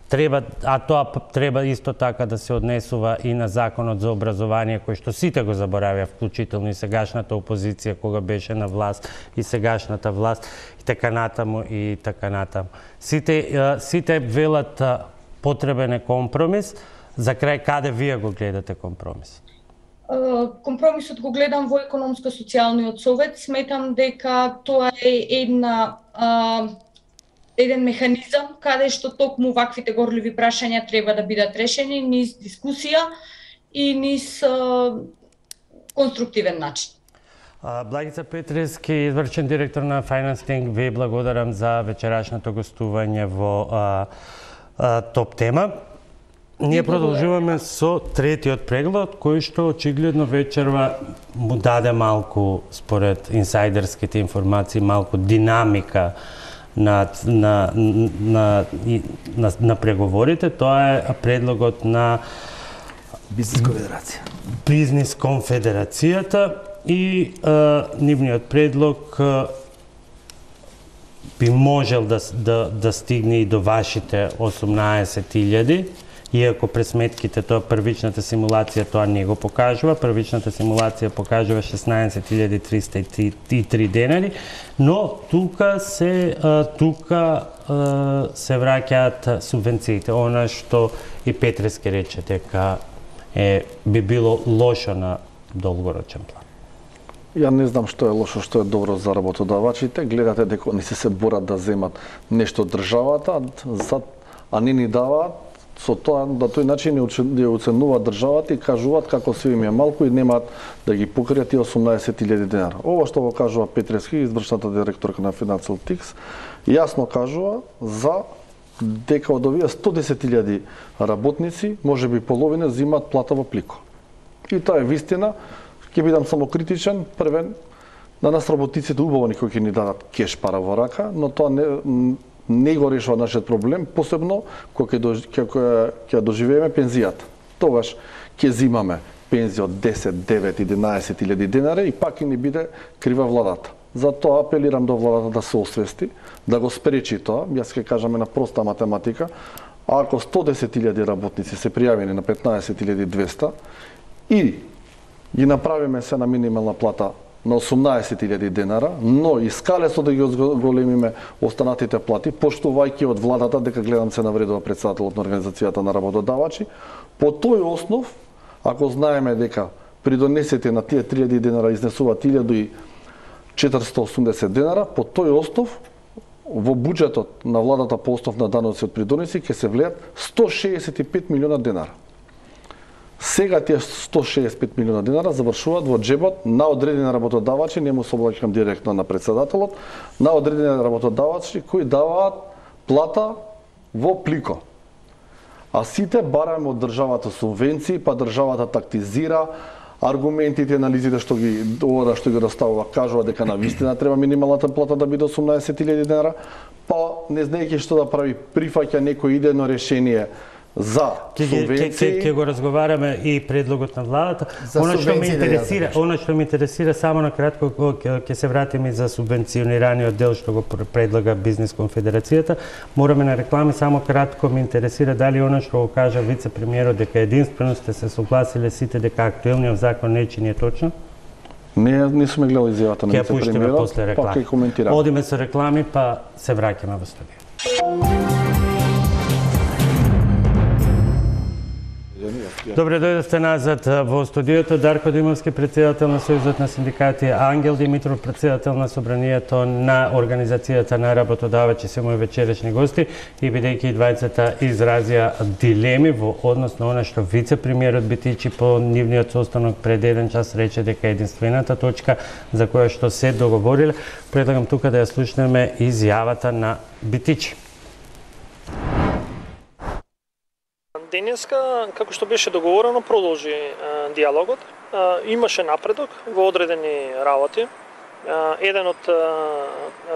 треба, а тоа треба исто така да се однесува и на законот за образование, кој што сите го заборавија, вклучително и сегашната опозиција кога беше на власт, и сегашната власт, и така натаму, и така натаму. Сите, сите велат потребен е компромис. За крај, каде вие го гледате компромис? Компромисот го гледам во економско-социјалниот совет. Сметам дека тоа е една еден механизам каде што токму ваквите горливи прашања треба да бидат решени низ дискусија и низ конструктивен начин. Благица Петрески, извршен директор на Financing, ви благодарам за вечерашното гостување во а, а, Топ тема. Ние продолжуваме со третиот преглед, кој што очигледно вечерва му даде малку, според инсайдерските информации, малку динамика на, на, на, на, на преговорите. Тоа е предлогот на Бизнес конфедерација. Бизнес конфедерацијата и а, нивниот предлог а, би можел да, да, да стигне и до вашите осумнаесет илјади, иако пресметките, тоа првичната симулација тоа не го покажува, првичната симулација покажува шеснаесет илјади триста и три денари, но тука се тука се враќаат субвенциите, она што и Петрески рече дека е би било лошо на долгорочен план. Ја не знам што е лошо, што е добро за работодавачите. Гледате дека не се се борат да земат нешто од државата, а не ни даваат. Со тоа, на тој начин ја оценуваат државата и кажуваат како се им е малку и немаат да ги покријат и осумнаесет илјади денара. Ова што го кажува Петрески, извршната директорка на Financial Times, јасно кажува за дека од овие сто десет илјади работници, може би половина земаат плата во плико. И тоа е вистина. Ќе бидам само критичен, првен, на нас работниците убаво никој ќе ни дадат кеш пара во рака, но тоа не не го решава нашиот проблем, посебно кога ќе ќе доживееме пензијата. Тогаш ќе земаме пензија од десет, девет, единаесет илјади денари и пак ќе ни биде крива владата. Затоа апелирам до владата да се освести, да го спречи тоа. Јас ќе кажам една проста математика. Ако сто десет илјади работници се пријавени на петнаесет илјади и двесте и ги направиме се на минимална плата на осумнаесет илјади денара, но и скалесо да ги големиме останатите плати, поштувајќи од владата дека гледам се навредува претседателот на Организацијата на работодавачи, по тој основ, ако знаеме дека придонесете на тие три илјади денара изнесуваат илјада и четиристотини и осумдесет денара, по тој основ во буџетот на владата по основ на даноци од придонеси ќе се влеат сто шеесет и пет милиона денара. Сега тие сто шеесет и пет милиона денара завршуваат во джебот на одредени работодавачи, не му се обраќам директно на претседателот, на одредени работодавачи кои даваат плата во плико. А сите бараме од државата субвенции, па државата тактизира, аргументите, анализите што ги ова што ги доставува кажува дека на вистина треба минималната плата да биде осумнаесет илјади денара, па не знаејќи што да прави, прифаќа некој идејно решение за субвенции. Ќе го разговараме и предлогот на владата. Она што ме интересира, она што ме интересира само на кратко ќе се вратиме за субвенционираниот дел што го предлага Бизнес конфедерацијата. Мораме на реклами, само кратко ме интересира дали она што го кажа вице-премиерот дека единствено сте се согласиле сите дека актуелниот закон не е точно? Не, не сме гледали изјавата на вице-премиерот, па ќе коментираме. Одиме со реклами, па се враќаме во студио. Добре дојдовте назад во студиото. Дарко Димовски, претседател на Сојузот на синдикати, Ангел Димитров, претседател на Собранието на Организацијата на работодавачи, се мои вечерешни гости, и бидејќи двајцата изразија дилеми во однос на она што вице-премиерот Битичи по нивниот состанок пред еден час рече дека единствената точка за која што се договориле, предлагам тука да ја слушнеме изјавата на Битичи. Ден денеска, како што беше договорено, продолжи а, диалогот. А, имаше напредок во одредени работи. А, еден од а,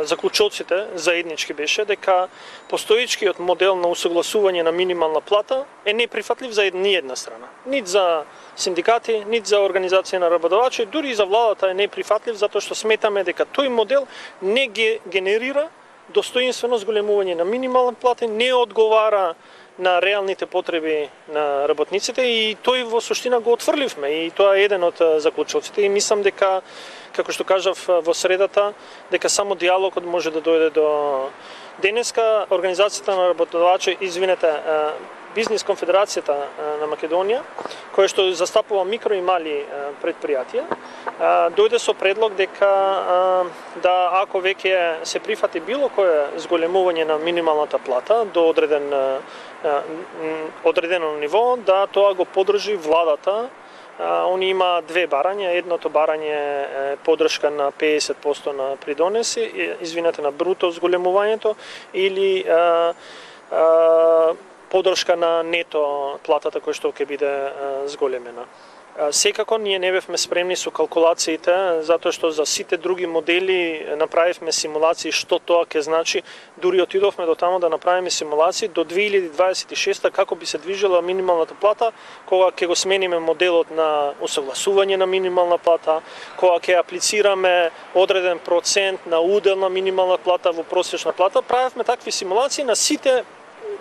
заклучоците заеднички беше дека постоечкиот модел на усогласување на минимална плата е неприфатлив за ни една страна. Нит за синдикати, нит за организација на работодавачи, дури и за владата е неприфатлив затоа што сметаме дека тој модел не ге генерира достоинствено зголемување на минимална плата, не одговара на реалните потреби на работниците и тој во суштина го отфрливме и тоа е еден од заклучоците и мислам дека, како што кажав во средата, дека само диалогот може да дојде до денеска. Организацијата на работодавачи, извинете, Бизнис конфедерацијата на Македонија, која што застапува микро и мали предпријатија, дојде со предлог дека да ако веќе се прифати било кое зголемување на минималната плата до одреден одредено ниво, да тоа го поддржи владата. Они има две барања, едното барање е поддршка на педесет проценти на придонеси, извинете, на бруто зголемувањето или а, а, поддршка на нето платата која што ќе биде зголемена. Секако ние не бевме спремни со калкулациите, затоа што за сите други модели направивме симулации што тоа ќе значи. Дури отидовме до тамо да направиме симулации до две илјади дваесет и шеста како би се движела минималната плата, кога ќе го смениме моделот на усогласување на минимална плата, кога ќе аплицираме одреден процент на удел на минимална плата во просечна плата. Правевме такви симулации на сите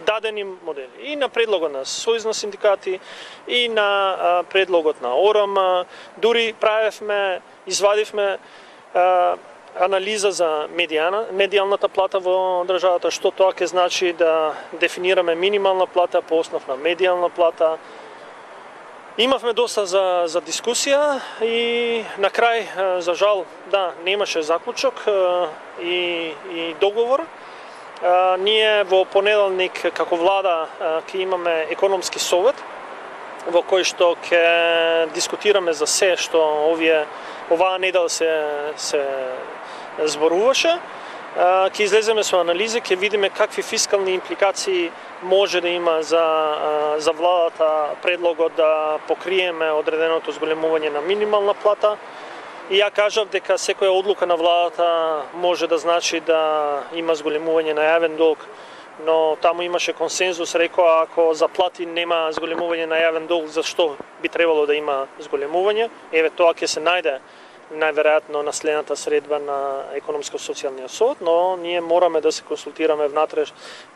дадени модели. И на предлогот на Сојуз на синдикати, и на а, предлогот на ОРМ, дури правевме, извадивме а, анализа за медијана, медијалната плата во државата, што тоа ќе значи да дефинираме минимална плата по основ на медијална плата. Имавме доста за, за дискусија и на крај, за жал, да, немаше заклучок и, и договор. А, ние во понеделник како влада ќе имаме економски совет во кој што ќе дискутираме за се што овие оваа недела се се зборуваше. Ќе излеземе со анализи, ќе видиме какви фискални импликации може да има за за владата предлогот да покриеме одреденото зголемување на минимална плата. И ја кажав дека секоја одлука на владата може да значи да има зголемување на јавен долг, но таму имаше консензус, рекоа ако за плати нема зголемување на јавен долг, зашто би требало да има зголемување? Еве тоа ќе се најде најверојатно на следната средба на економско-социјалниот совет, но ние мораме да се консултираме внатре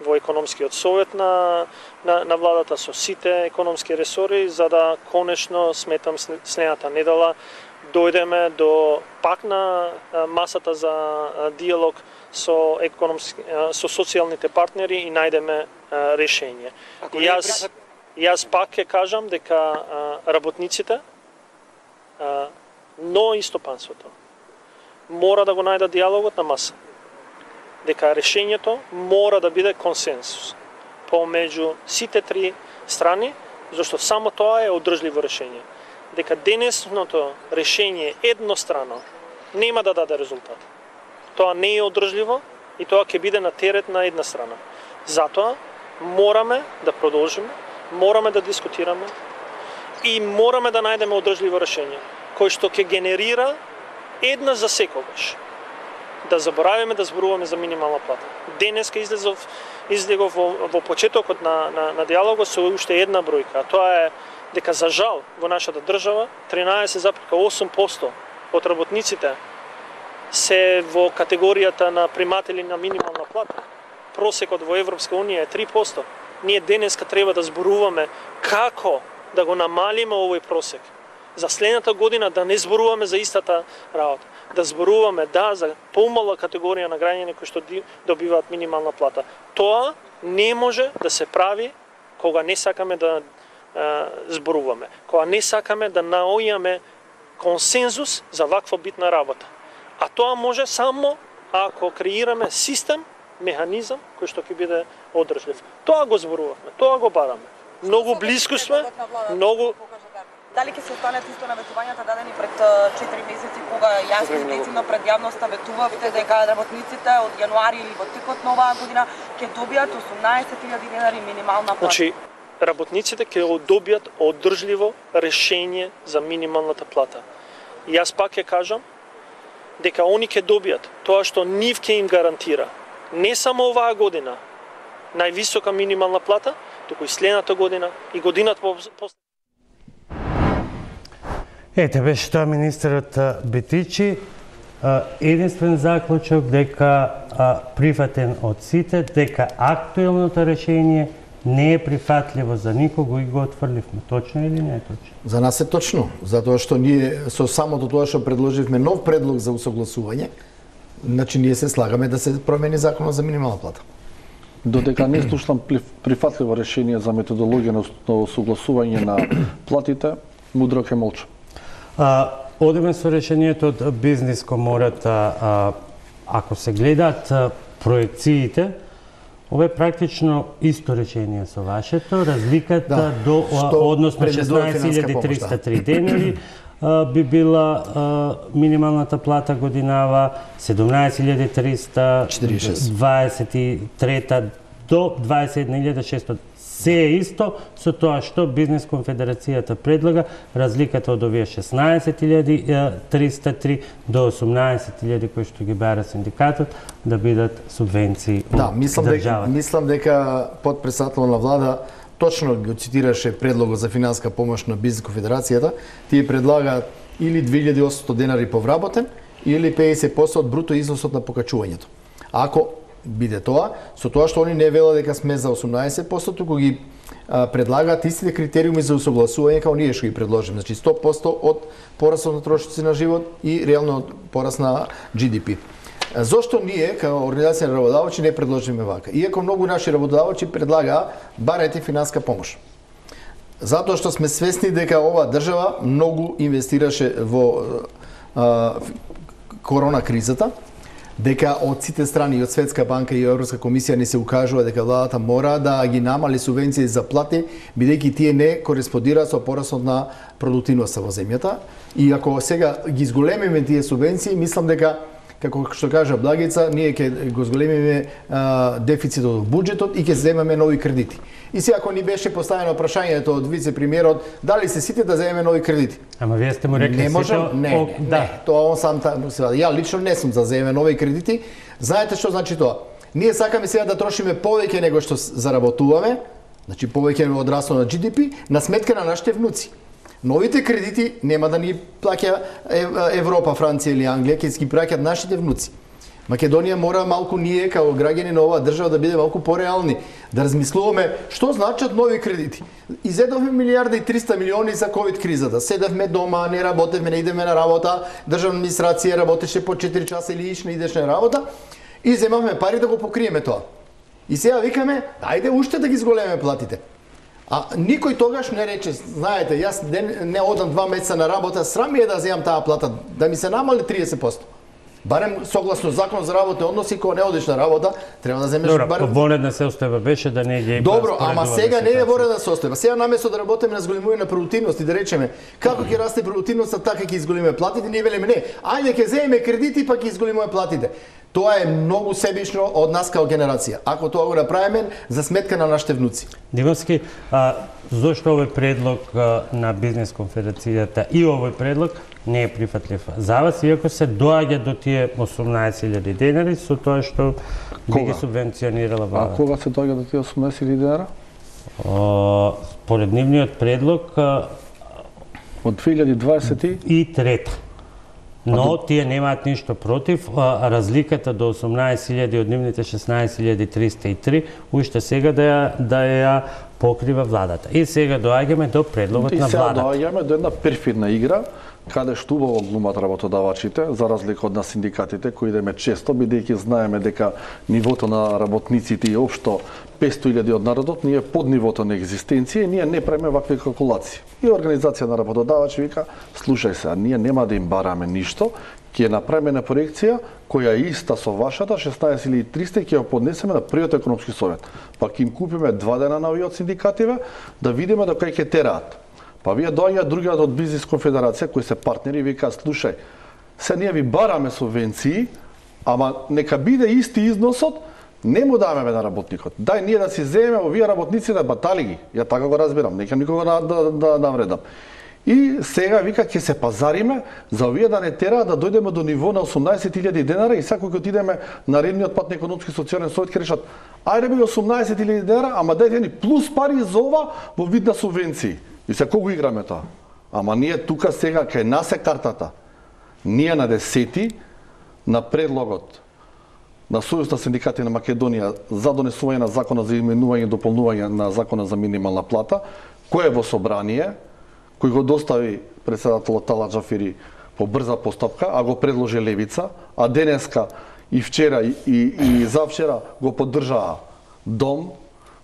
во економскиот совет на, на, на владата со сите економски ресори, за да конечно, сметам, следната недела дојдеме до пак на масата за диалог со економски, со социјалните партнери и најдеме решение. И јас, јас пак ќе кажам дека работниците, но и стопанството мора да го најдат диалогот на маса. Дека решењето мора да биде консенсус помеѓу сите три страни, зашто само тоа е одржливо решење. Дека денесното решење еднострано нема да даде резултат. Тоа не е одржливо и тоа ќе биде на терет на една страна. Затоа мораме да продолжиме, мораме да дискутираме и мораме да најдеме одржливо решење, кој што ќе генерира една за секогаш. Да заборавиме да зборуваме за минимална плата. Денеска излезов, излегов во, во почетокот на, на, на диалогот со уште една бројка, а тоа е дека за жал во нашата држава тринаесет запирка осум проценти од работниците се во категоријата на приматели на минимална плата. Просекот во Европска унија е три проценти. Ние денеска треба да зборуваме како да го намалиме овој просек. За следната година да не зборуваме за истата работа. Да зборуваме да за помала категорија на граѓани кои што добиваат минимална плата. Тоа не може да се прави кога не сакаме да зборуваме, кога не сакаме да наоѓаме консензус за ваква битна работа. А тоа може само ако креираме систем, механизам кој што ќе биде одржлив. Тоа го зборувавме, тоа го бараме. Многу близко сме, многу. Дали ќе се останат исто наветувањата дадени пред четири месеци кога јасно и децидно пред јавноста ветувавте дека работниците од јануари или во текот на оваа година ќе добијат осумнаесет илјади денари минимална плата? Значи, работниците ќе добијат одржливо решение за минималната плата. И јас пак ќе кажам дека они ќе добијат тоа што нив ќе им гарантира не само оваа година највисока минимална плата, туку и следната година и годината после. Ете, беше тоа министерот Бетичи. Единствен заклучок дека прифатен од сите, дека актуелното решение не е прифатливо за никого и го отфрливме. Точно или не е точно? За нас е точно, затоа што ние со самото тоа што предложивме нов предлог за усогласување, значи ние се слагаме да се промени законот за минимална плата. Додека не слушнам прифатливо решение за методологија на усогласување на платите, мудро ќе молчам. А, одиме со решението од бизнис комората. А, ако се гледаат а, проекциите, ова е практично исто решение со вашето. Разликата Да, до а, што односно шеснаесет илјади триста три денари а, би била а, минималната плата годинава, седумнаесет илјади триста дваесет и трета до дваесет и една илјади шестоста. Се е исто со тоа што Бизнес конфедерацијата предлага, разликата од овие шеснаесет илјади триста три до осумнаесет илјади кои што ги бара синдикатот да бидат субвенции Да, од мислам дека, државата. мислам дека подпредседател на влада точно го цитираше предлогот за финанска помош на Бизнес конфедерацијата. Тие предлагаат или две илјади и осумстотини денари повработен или педесет проценти од бруто износот на покачувањето. Ако биде тоа, со тоа што они не велат дека сме за осумнаесет проценти, туку ги а, предлагаат истите критериуми за усогласување како ние што ги предложиме. Значи сто проценти од порасот на трошоци на живот и реално порас на Джи Ди Пи. Зошто ние, како организација на работодавачи, не предложиме вака? Иако многу наши работодавачи предлагаа барете финанска помош. Затоа што сме свесни дека оваа држава многу инвестираше во а, корона кризата, дека од сите страни, и од Светска банка и Европска комисија не се укажува дека владата мора да ги намали субвенции за плати, бидејќи тие не кореспондираат со порасот на продуктивноста во земјата. И ако сега ги зголемиме тие субвенции, мислам дека, како што кажа Благица, ние ќе го зголемиме а, дефицитот во буџетот и ќе земеме нови кредити. И сега ако ни беше поставено прашањето од вице-премиерот, дали се сите да земеме нови кредити? Ама вие сте му рекли не можам, сите... не, О, не, да. не, тоа он сам та, ја лично не сум за земеме нови кредити. Знаете што значи тоа? Ние сакаме сега да трошиме повеќе него што заработуваме, значи повеќе од растот на Джи Ди Пи, на сметка на нашите внуци. Новите кредити нема да ни плаќа Европа, Франција или Англија, ќе ги плаќаат нашите внуци. Македонија мора малку ние, како граѓани на оваа држава, да биде малку пореални, да размислуваме што значат нови кредити. Изедовме милијарда и триста милиони за ковид кризата. Седевме дома, не работевме, не идеме на работа, државна администрација работеше по четири часа или иш не идеш на работа и земавме пари да го покриеме тоа. И сега викаме, ајде уште да ги зголеме платите. А никој тогаш не рече, знаете, јас не, не одам два месеца на работа, срам ми е да земам таа плата, да ми се намали триесет проценти. Барем согласно закон за работни односи, кога не одиш на работа, треба да земеш Добро, барем... вонедна состојба беше да не ги... Добро, ама сега не е вонедна состојба. Сега наместо да работиме на зголемување на продуктивност и да речеме како ќе расте продуктивноста, така ќе изголиме платите, ние велиме не. Ајде ќе земеме кредити па ќе изголимуваме платите. Тоа е многу себично од нас како генерација. Ако тоа го направиме за сметка на нашите внуци. Димовски, а, зошто овој предлог а, на Бизнес конфедерацијата и овој предлог не е прифатлив за вас, иако се доаѓа до тие осумнаесет илјади денари со тоа што би ги субвенционирала владата? А кога се доаѓа до тие осумнаесет илјади денара? Според нивниот предлог а, од две илјади дваесет и трета. Но тие немаат ништо против, а разликата до осумнаесет илјади од нивните шеснаесет илјади триста и три уште сега да ја, да ја покрива владата. И сега доаѓаме до предлогот и на сега владата. доаѓаме до една перфидна игра, каде што убаво глумат работодавачите, за разлика од нас синдикатите, кои идеме често, бидејќи знаеме дека нивото на работниците и општо петсто илјади од народот, ние под нивото на екзистенција и ние не правиме вакви калкулации. И организација на работодавачи вика, слушај се, ние нема да им бараме ништо, ќе направиме на проекција која е иста со вашата, шеснаесет илјади и триста, ќе ја поднесеме на првиот економски совет. Па ќе им купиме два дена на овие од синдикативе, да видиме до кај ќе тераат. Па вие доаѓаат другиот од Бизнес конфедерација, кои се партнери, и викаат, слушај, се ние ви бараме субвенции, ама нека биде исти износот, Не му даваме на работникот. Дај ние да си земеме овие работници да батали ги. Ја така го разбирам, не ќе никога да, да, да навредам. И сега вика ќе се пазариме за овие да не тераат да дојдеме до ниво на осумнаесет илјади денара и секој кога отидеме на редниот пат на економски и социјален совет ќе решат ајде би осумнаесет илјади денара, ама дајте ни плюс пари за ова во вид на субвенции. И се кого играме тоа? Ама ние тука сега кај нас е картата. Ние на десети на предлогот на Сојуз на синдикати на Македонија за донесување на закона за изменување и дополнување на закона за минимална плата, кој е во собрание, кој го достави председателот Талат Джафери по брза постапка, а го предложи Левица, а денеска и вчера и, и, и завчера го поддржаа Дом,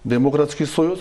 Демократски сојуз,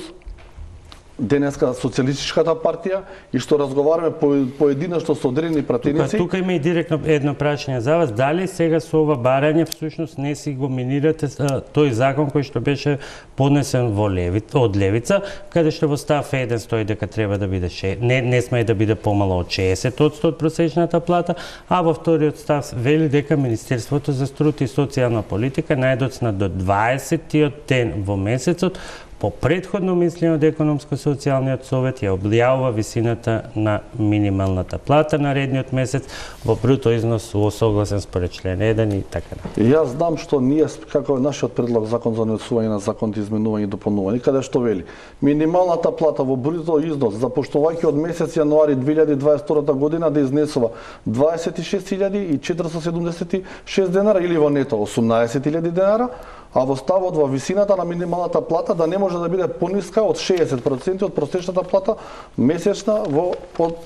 денеска Социјалистичката партија и што разговараме по, поединечно со одредени пратеници. Тука, тука има и директно едно прашање за вас. Дали сега со ова барање всушност не си го минирате тој закон кој што беше поднесен во Левица, од Левица, каде што во став еден стои дека треба да биде ше, не не сме да биде помало од шеесет одсто од просечната плата, а во вториот став вели дека Министерството за труд и социјална политика најдоцна до дваесеттиот ден во месецот по претходно мислење од економско-социјалниот совет ја објавува висината на минималната плата на редниот месец во бруто износ во согласен според член еден и така натаму. Јас знам што ние како е нашиот предлог закон за донесување на закон за изменување и дополнување, каде што вели минималната плата во бруто износ запоштувајќи од месец јануари две илјади дваесет и втора година да изнесува дваесет и шест илјади четириста седумдесет и шест денара или во нето осумнаесет илјади денара, а во ставот во висината на минималната плата да не може да биде пониска од шеесет проценти од просечната плата месечна во од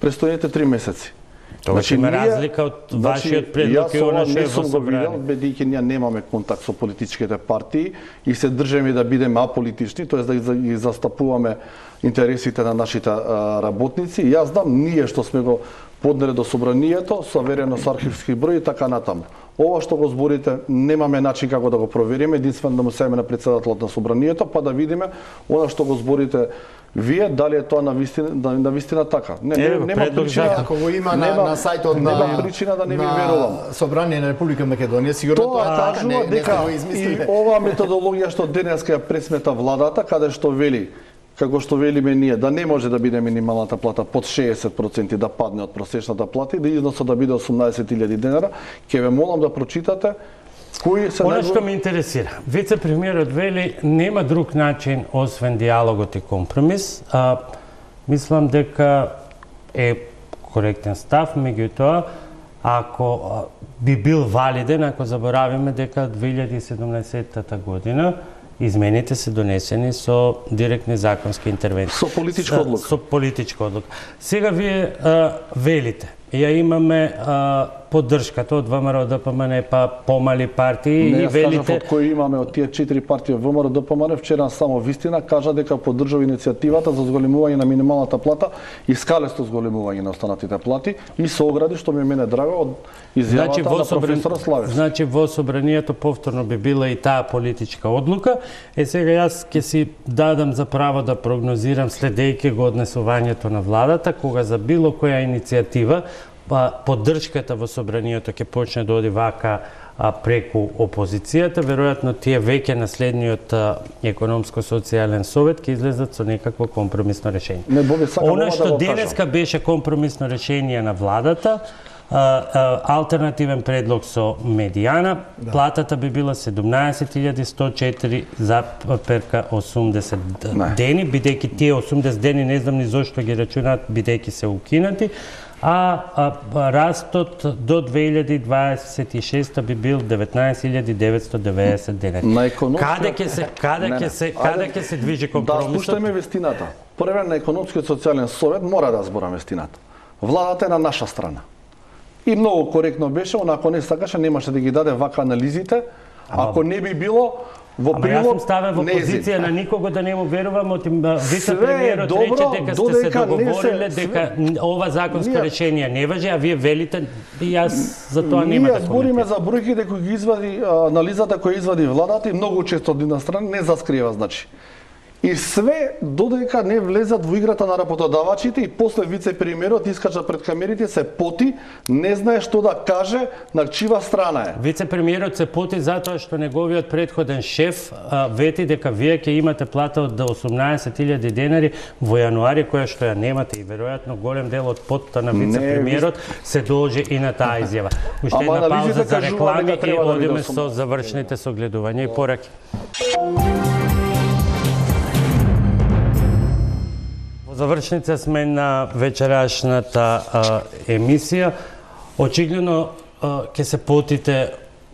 престојните три месеци. Тоа значи, има разлика од вашиот предлог и она што е во собрание. Бидејќи ние немаме контакт со политичките партии и се држиме да бидеме аполитични, тоест да ги застапуваме интересите на нашите работници. Јас знам ние што сме го поднеле до собранието, соверено со архивски број и така натаму. Ова што го зборите, немаме начин како да го провериме, единствено да му семе на председателот на собранието, па да видиме она што го зборите вие, дали е тоа на вистина, на вистина така. Не, е, нема причина, ако го има на, нема, на сајтот на нема причина да не ви верувам. Собрание на Република Македонија, сигурно тоа, тоа кажува не, дека не и ова методологија што денеска ја пресмета владата, каде што вели како што велиме ние, да не може да биде минималната плата под шеесет проценти да падне од просечната плата и да износот да биде осумнаесет илјади денара, ќе ве молам да прочитате кои се Она што ме интересира. Вице-премиерот вели нема друг начин освен диалогот и компромис. А, мислам дека е коректен став, меѓутоа ако би бил валиден, ако заборавиме дека две илјади и седумнаесетта година измените се донесени со директни законски интервенции. Со политичка одлука. Со политичка одлука. Сега вие а, велите, ја имаме а, поддршката од ВМРО Д П М Н, па помали партии не, и велите... Не, од кои имаме од тие четири партии ВМРО Д П М Н, вчера само вистина кажа дека поддржува иницијативата за зголемување на минималната плата и скалесто зголемување на останатите плати и се огради, што ми мене драго, од изјавата значи, на професор Славец. Значи во собранието повторно би била и таа политичка одлука. Е сега јас ќе си дадам за право да прогнозирам следејќи го однесувањето на владата, кога за било која иницијатива па поддршката во собранието ќе почне да оди вака а, преку опозицијата, веројатно тие веќе на следниот економско-социјален совет ќе излезат со некакво компромисно решение. Не, Боби, Она што да денеска беше компромисно решение на владата, а, а, алтернативен предлог со медијана, да. Платата би била седумнаесет илјади сто четири запирка осумдесет не. Дени, бидејќи тие осумдесет дени не знам ни зошто ги рачунаат, бидејќи се укинати. А, а, а растот до две илјади дваесет и шеста би бил деветнаесет илјади деветсто деветдесет денари. На економска... Каде ќе се каде ќе се каде ќе се движи компромисот? Да слушаме вестината. Првен на економскиот социјален совет мора да збора вестината. Владата е на наша страна. И многу коректно беше, онако не сакаше, немаше да ги даде вака анализите, ако не би било во Ама прилог. Јас сум ставен во позиција на никого да не му верувам, од вице-премиерот рече дека сте се договориле, дека ова законско ние, решение не важи, а вие велите и јас за тоа нема да коментирам. Ние збориме за бројките кои ги извади анализата која извади владата и многу често од една страна не заскрива, значи. И све додека не влезат во играта на работодавачите и после вице-премиерот искача пред камерите, се поти, не знае што да каже, на чива страна е. Вице-премиерот се поти затоа што неговиот претходен шеф а, вети дека вие ќе имате плата од осумнаесет илјади денари во јануари, која што ја немате, и веројатно голем дел од потта на вице-премиерот се должи и на таа изјава. Уште една пауза за реклами и одиме со завршните согледувања и пораки. Завршница сме на вечерашната а, емисија. Очигледно ќе се потите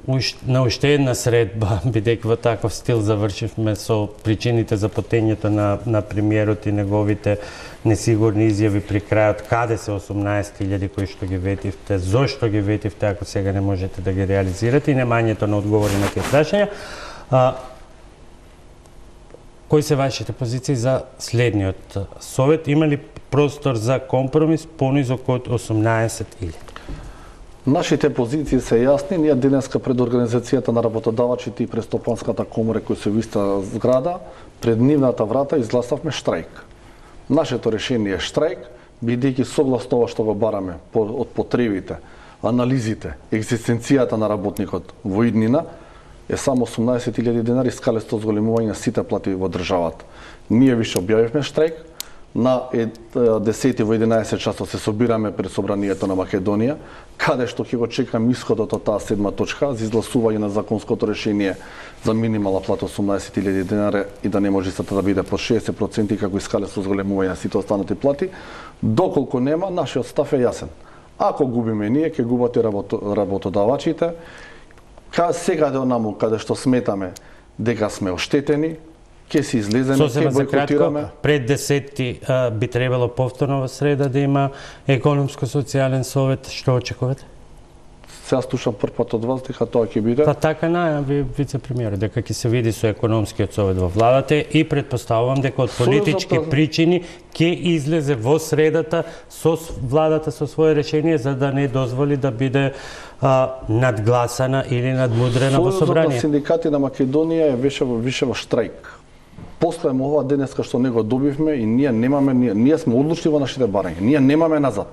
уш, на уште една средба, бидејќи во таков стил завршивме со причините за потењето на, на премиерот и неговите несигурни изјави при крајот, каде се осумнаесет илјади кои што ги ветивте, зошто ги ветивте ако сега не можете да ги реализирате и немањето на одговори на тие прашања. А, Кои се вашите позиции за следниот совет? Има ли простор за компромис понизок од осумнаесет илјади? Нашите позиции се јасни. Ние денеска пред Организацијата на работодавачите и Престопанската комора кои се во иста зграда, пред нивната врата изгласавме штрајк. Нашето решение е штрајк, бидејќи согласно ова што го бараме од потребите, анализите, екзистенцијата на работникот во иднина, е само осумнаесет илјади денари скалесто зголемување на сите плати во државата. Ние више објавивме штрајк, на десети во единаесет часот се собираме пред Собранието на Македонија, каде што ќе го чекам исходот од таа седма точка за изгласување на законското решение за минимална плата осумнаесет илјади денари и да не може истата да биде по шеесет проценти како и скалесто зголемување на сите останати плати. Доколку нема, нашиот став е јасен. Ако губиме ние, ќе губат и работодавачите. Сега до наму, каде што сметаме дека сме оштетени, ќе се излеземе, ќе бойкотираме. Пред десети а, би требало повторно во среда да има економско-социјален совет. Што очекувате? Сега слушам прв пат од вас дека тоа ќе биде. Па така најави вице-премиерот дека ќе се види со економскиот совет во владата и предпоставувам дека од политички Сојузата... причини ќе излезе во средата со владата со свое решение за да не дозволи да биде а, надгласана или надмудрена во собрание. Сојузот на синдикати на Македонија е више во више во штрајк. После ова денеска што не го добивме и ние немаме ние, ние сме одлучни во нашите барања. Ние немаме назад.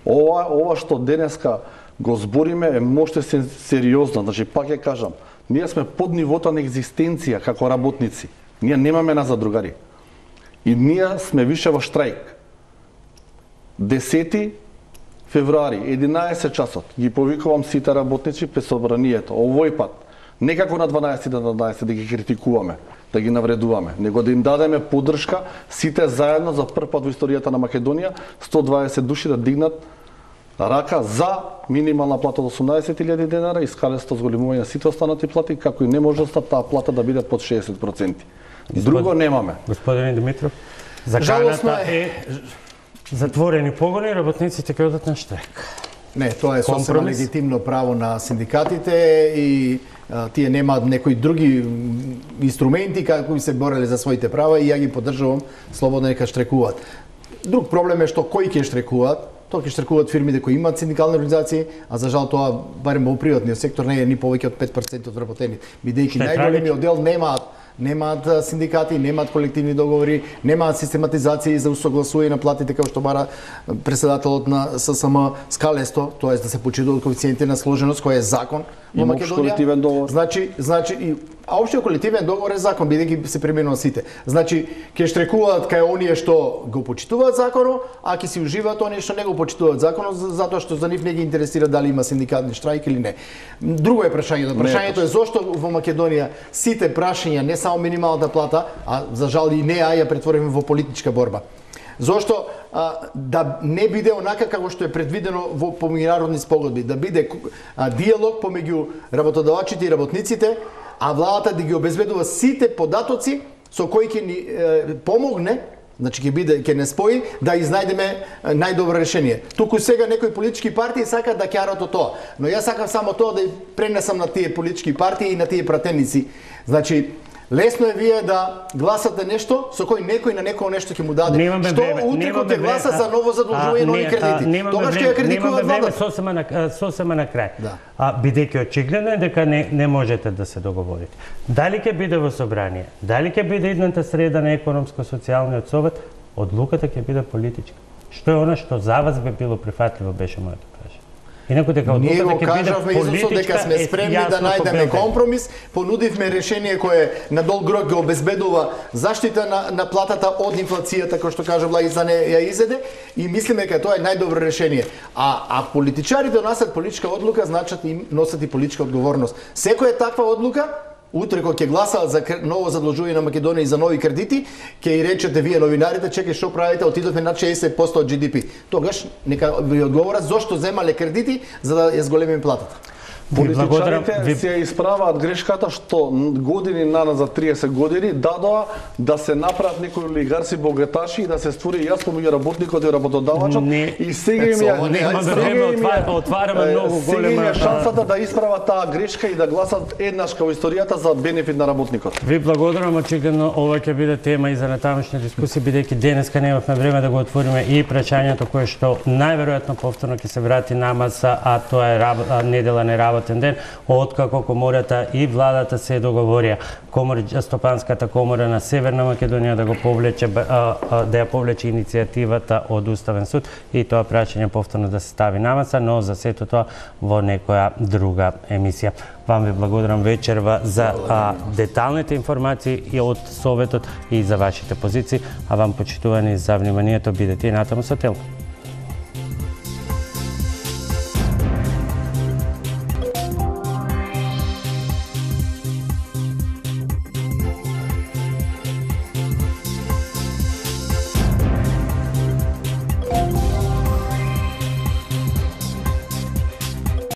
Ова ова што денеска го збориме е можете се сериозно, значи пак ќе кажам, ние сме под нивото на екзистенција како работници. Ние немаме назад, другари. И ние сме више во штрајк. десети февруари, единаесет часот, ги повикувам сите работници пред собранието. Овој пат, не како на дванаесети на дванаесети да ги критикуваме, да ги навредуваме, него да им дадеме поддршка сите заедно за прв пат во историјата на Македонија, сто дваесет души да дигнат рака за минимална плата од осумнаесет илјади денара и скалесто зголемување на сите останати плати, како и неможноста таа плата да биде под шеесет проценти. Друго немаме. Господин Димитров, заканата е затворени погони, работниците ќе одат на штрајк. Не, тоа е сосема легитимно право на синдикатите и а, тие немаат некои други инструменти како би се бореле за своите права и ја ги поддржувам слободно нека штрекуваат. Друг проблем е што кои ќе штрекуваат. Тоа ќе штрекуваат фирмите кои имаат синдикални организации, а за жал тоа барем во приватниот сектор не е ни повеќе од пет проценти од вработени, бидејќи најголемиот дел немаат немаат синдикати, немаат колективни договори, немаат систематизација за усогласување на платите како што бара председателот на ССМ скалесто, тоест да се почитуваат коефициенти на сложеност кој е закон во Македонија. Значи, значи и а општиот колективен договор е закон бидејќи се применува сите. Значи ќе штрекуваат кај оние што го почитуваат законот, а ќе си уживаат оние што не го почитуваат законот затоа што за нив не ги интересира дали има синдикални штрајк или не. Друго е прашањето. Прашањето е зошто во Македонија сите прашања, не само минималната плата, а за жал и неа ја претвориме во политичка борба. Зошто а, да не биде онака како што е предвидено во меѓународни спогодби, да биде а, диалог помеѓу работодавачите и работниците, а владата да ги обезбедува сите податоци со кои ќе ни е, помогне, значи ќе биде ќе не спои да изнајдеме најдобро решение. Туку сега некои политички партии сакаат да ќарат од тоа, но јас сакам само тоа да пренесам на тие политички партии и на тие пратеници. Значи Лесно е вие да гласате нешто со кој некој на некој нешто ќе му даде. Немаме Што време, утре немаме кога ќе гласа време, за ново задолжување и нови не, кредити? а, немаме Тогаш ќе време, ја критикуваат немаме време, владата. сосема на сосема на крај. Да. А бидејќи очигледно е дека не не можете да се договорите. Дали ќе биде во собрание, дали ќе биде идната среда на економско-социјалниот совет, одлуката ќе биде политичка. Што е она што за вас би било прифатливо, беше моето прашање. Инаку дека Ние го одлуката ќе биде кажавме изусо дека политичка, сме е спремни јасно да најдеме победен. компромис, понудивме решение кое на долг рок го обезбедува заштита на, на платата од инфлацијата, кој што кажа Влагица не ја изеде, и мислиме дека тоа е најдобро решение. А, а политичарите донасат политичка одлука, значат и носат и политичка одговорност. Секоја таква одлука, утре кога ќе гласаат за ново задолжување на Македонија и за нови кредити, ќе и речете вие новинарите, чекај што правите, отидовме на шеесет проценти од Джи Ди Пи. Тогаш нека ви одговорат зошто земале кредити за да ја зголемиме платата. Политичарите ви... се исправаат грешката што години наназад, триесет години, дадоа да се направат некои олигарси богаташи и да се створи јас помеѓу работникот и работодавачот. Не, и сега им ја нема време, отвар, отвараме многу голема... Сега им ја шансата да исправат таа грешка и да гласат еднаш као историјата за бенефит на работникот. Ви благодарам, очигледно ова ќе биде тема и за натамошни дискусии, бидејќи денеска немавме време да го отвориме и прашањето кое што најверојатно повторно ќе се врати на маса, а тоа е раб... недела не работен ден, откако комората и владата се договорија комор, Стопанската комора на Северна Македонија да го повлече да ја повлече иницијативата од Уставен суд и тоа прашање повторно да се стави на маса, но за сето тоа во некоја друга емисија. Вам ви благодарам вечерва за а, деталните информации и од Советот и за вашите позиции, а вам почитувани за вниманието, бидете и натаму со Телма.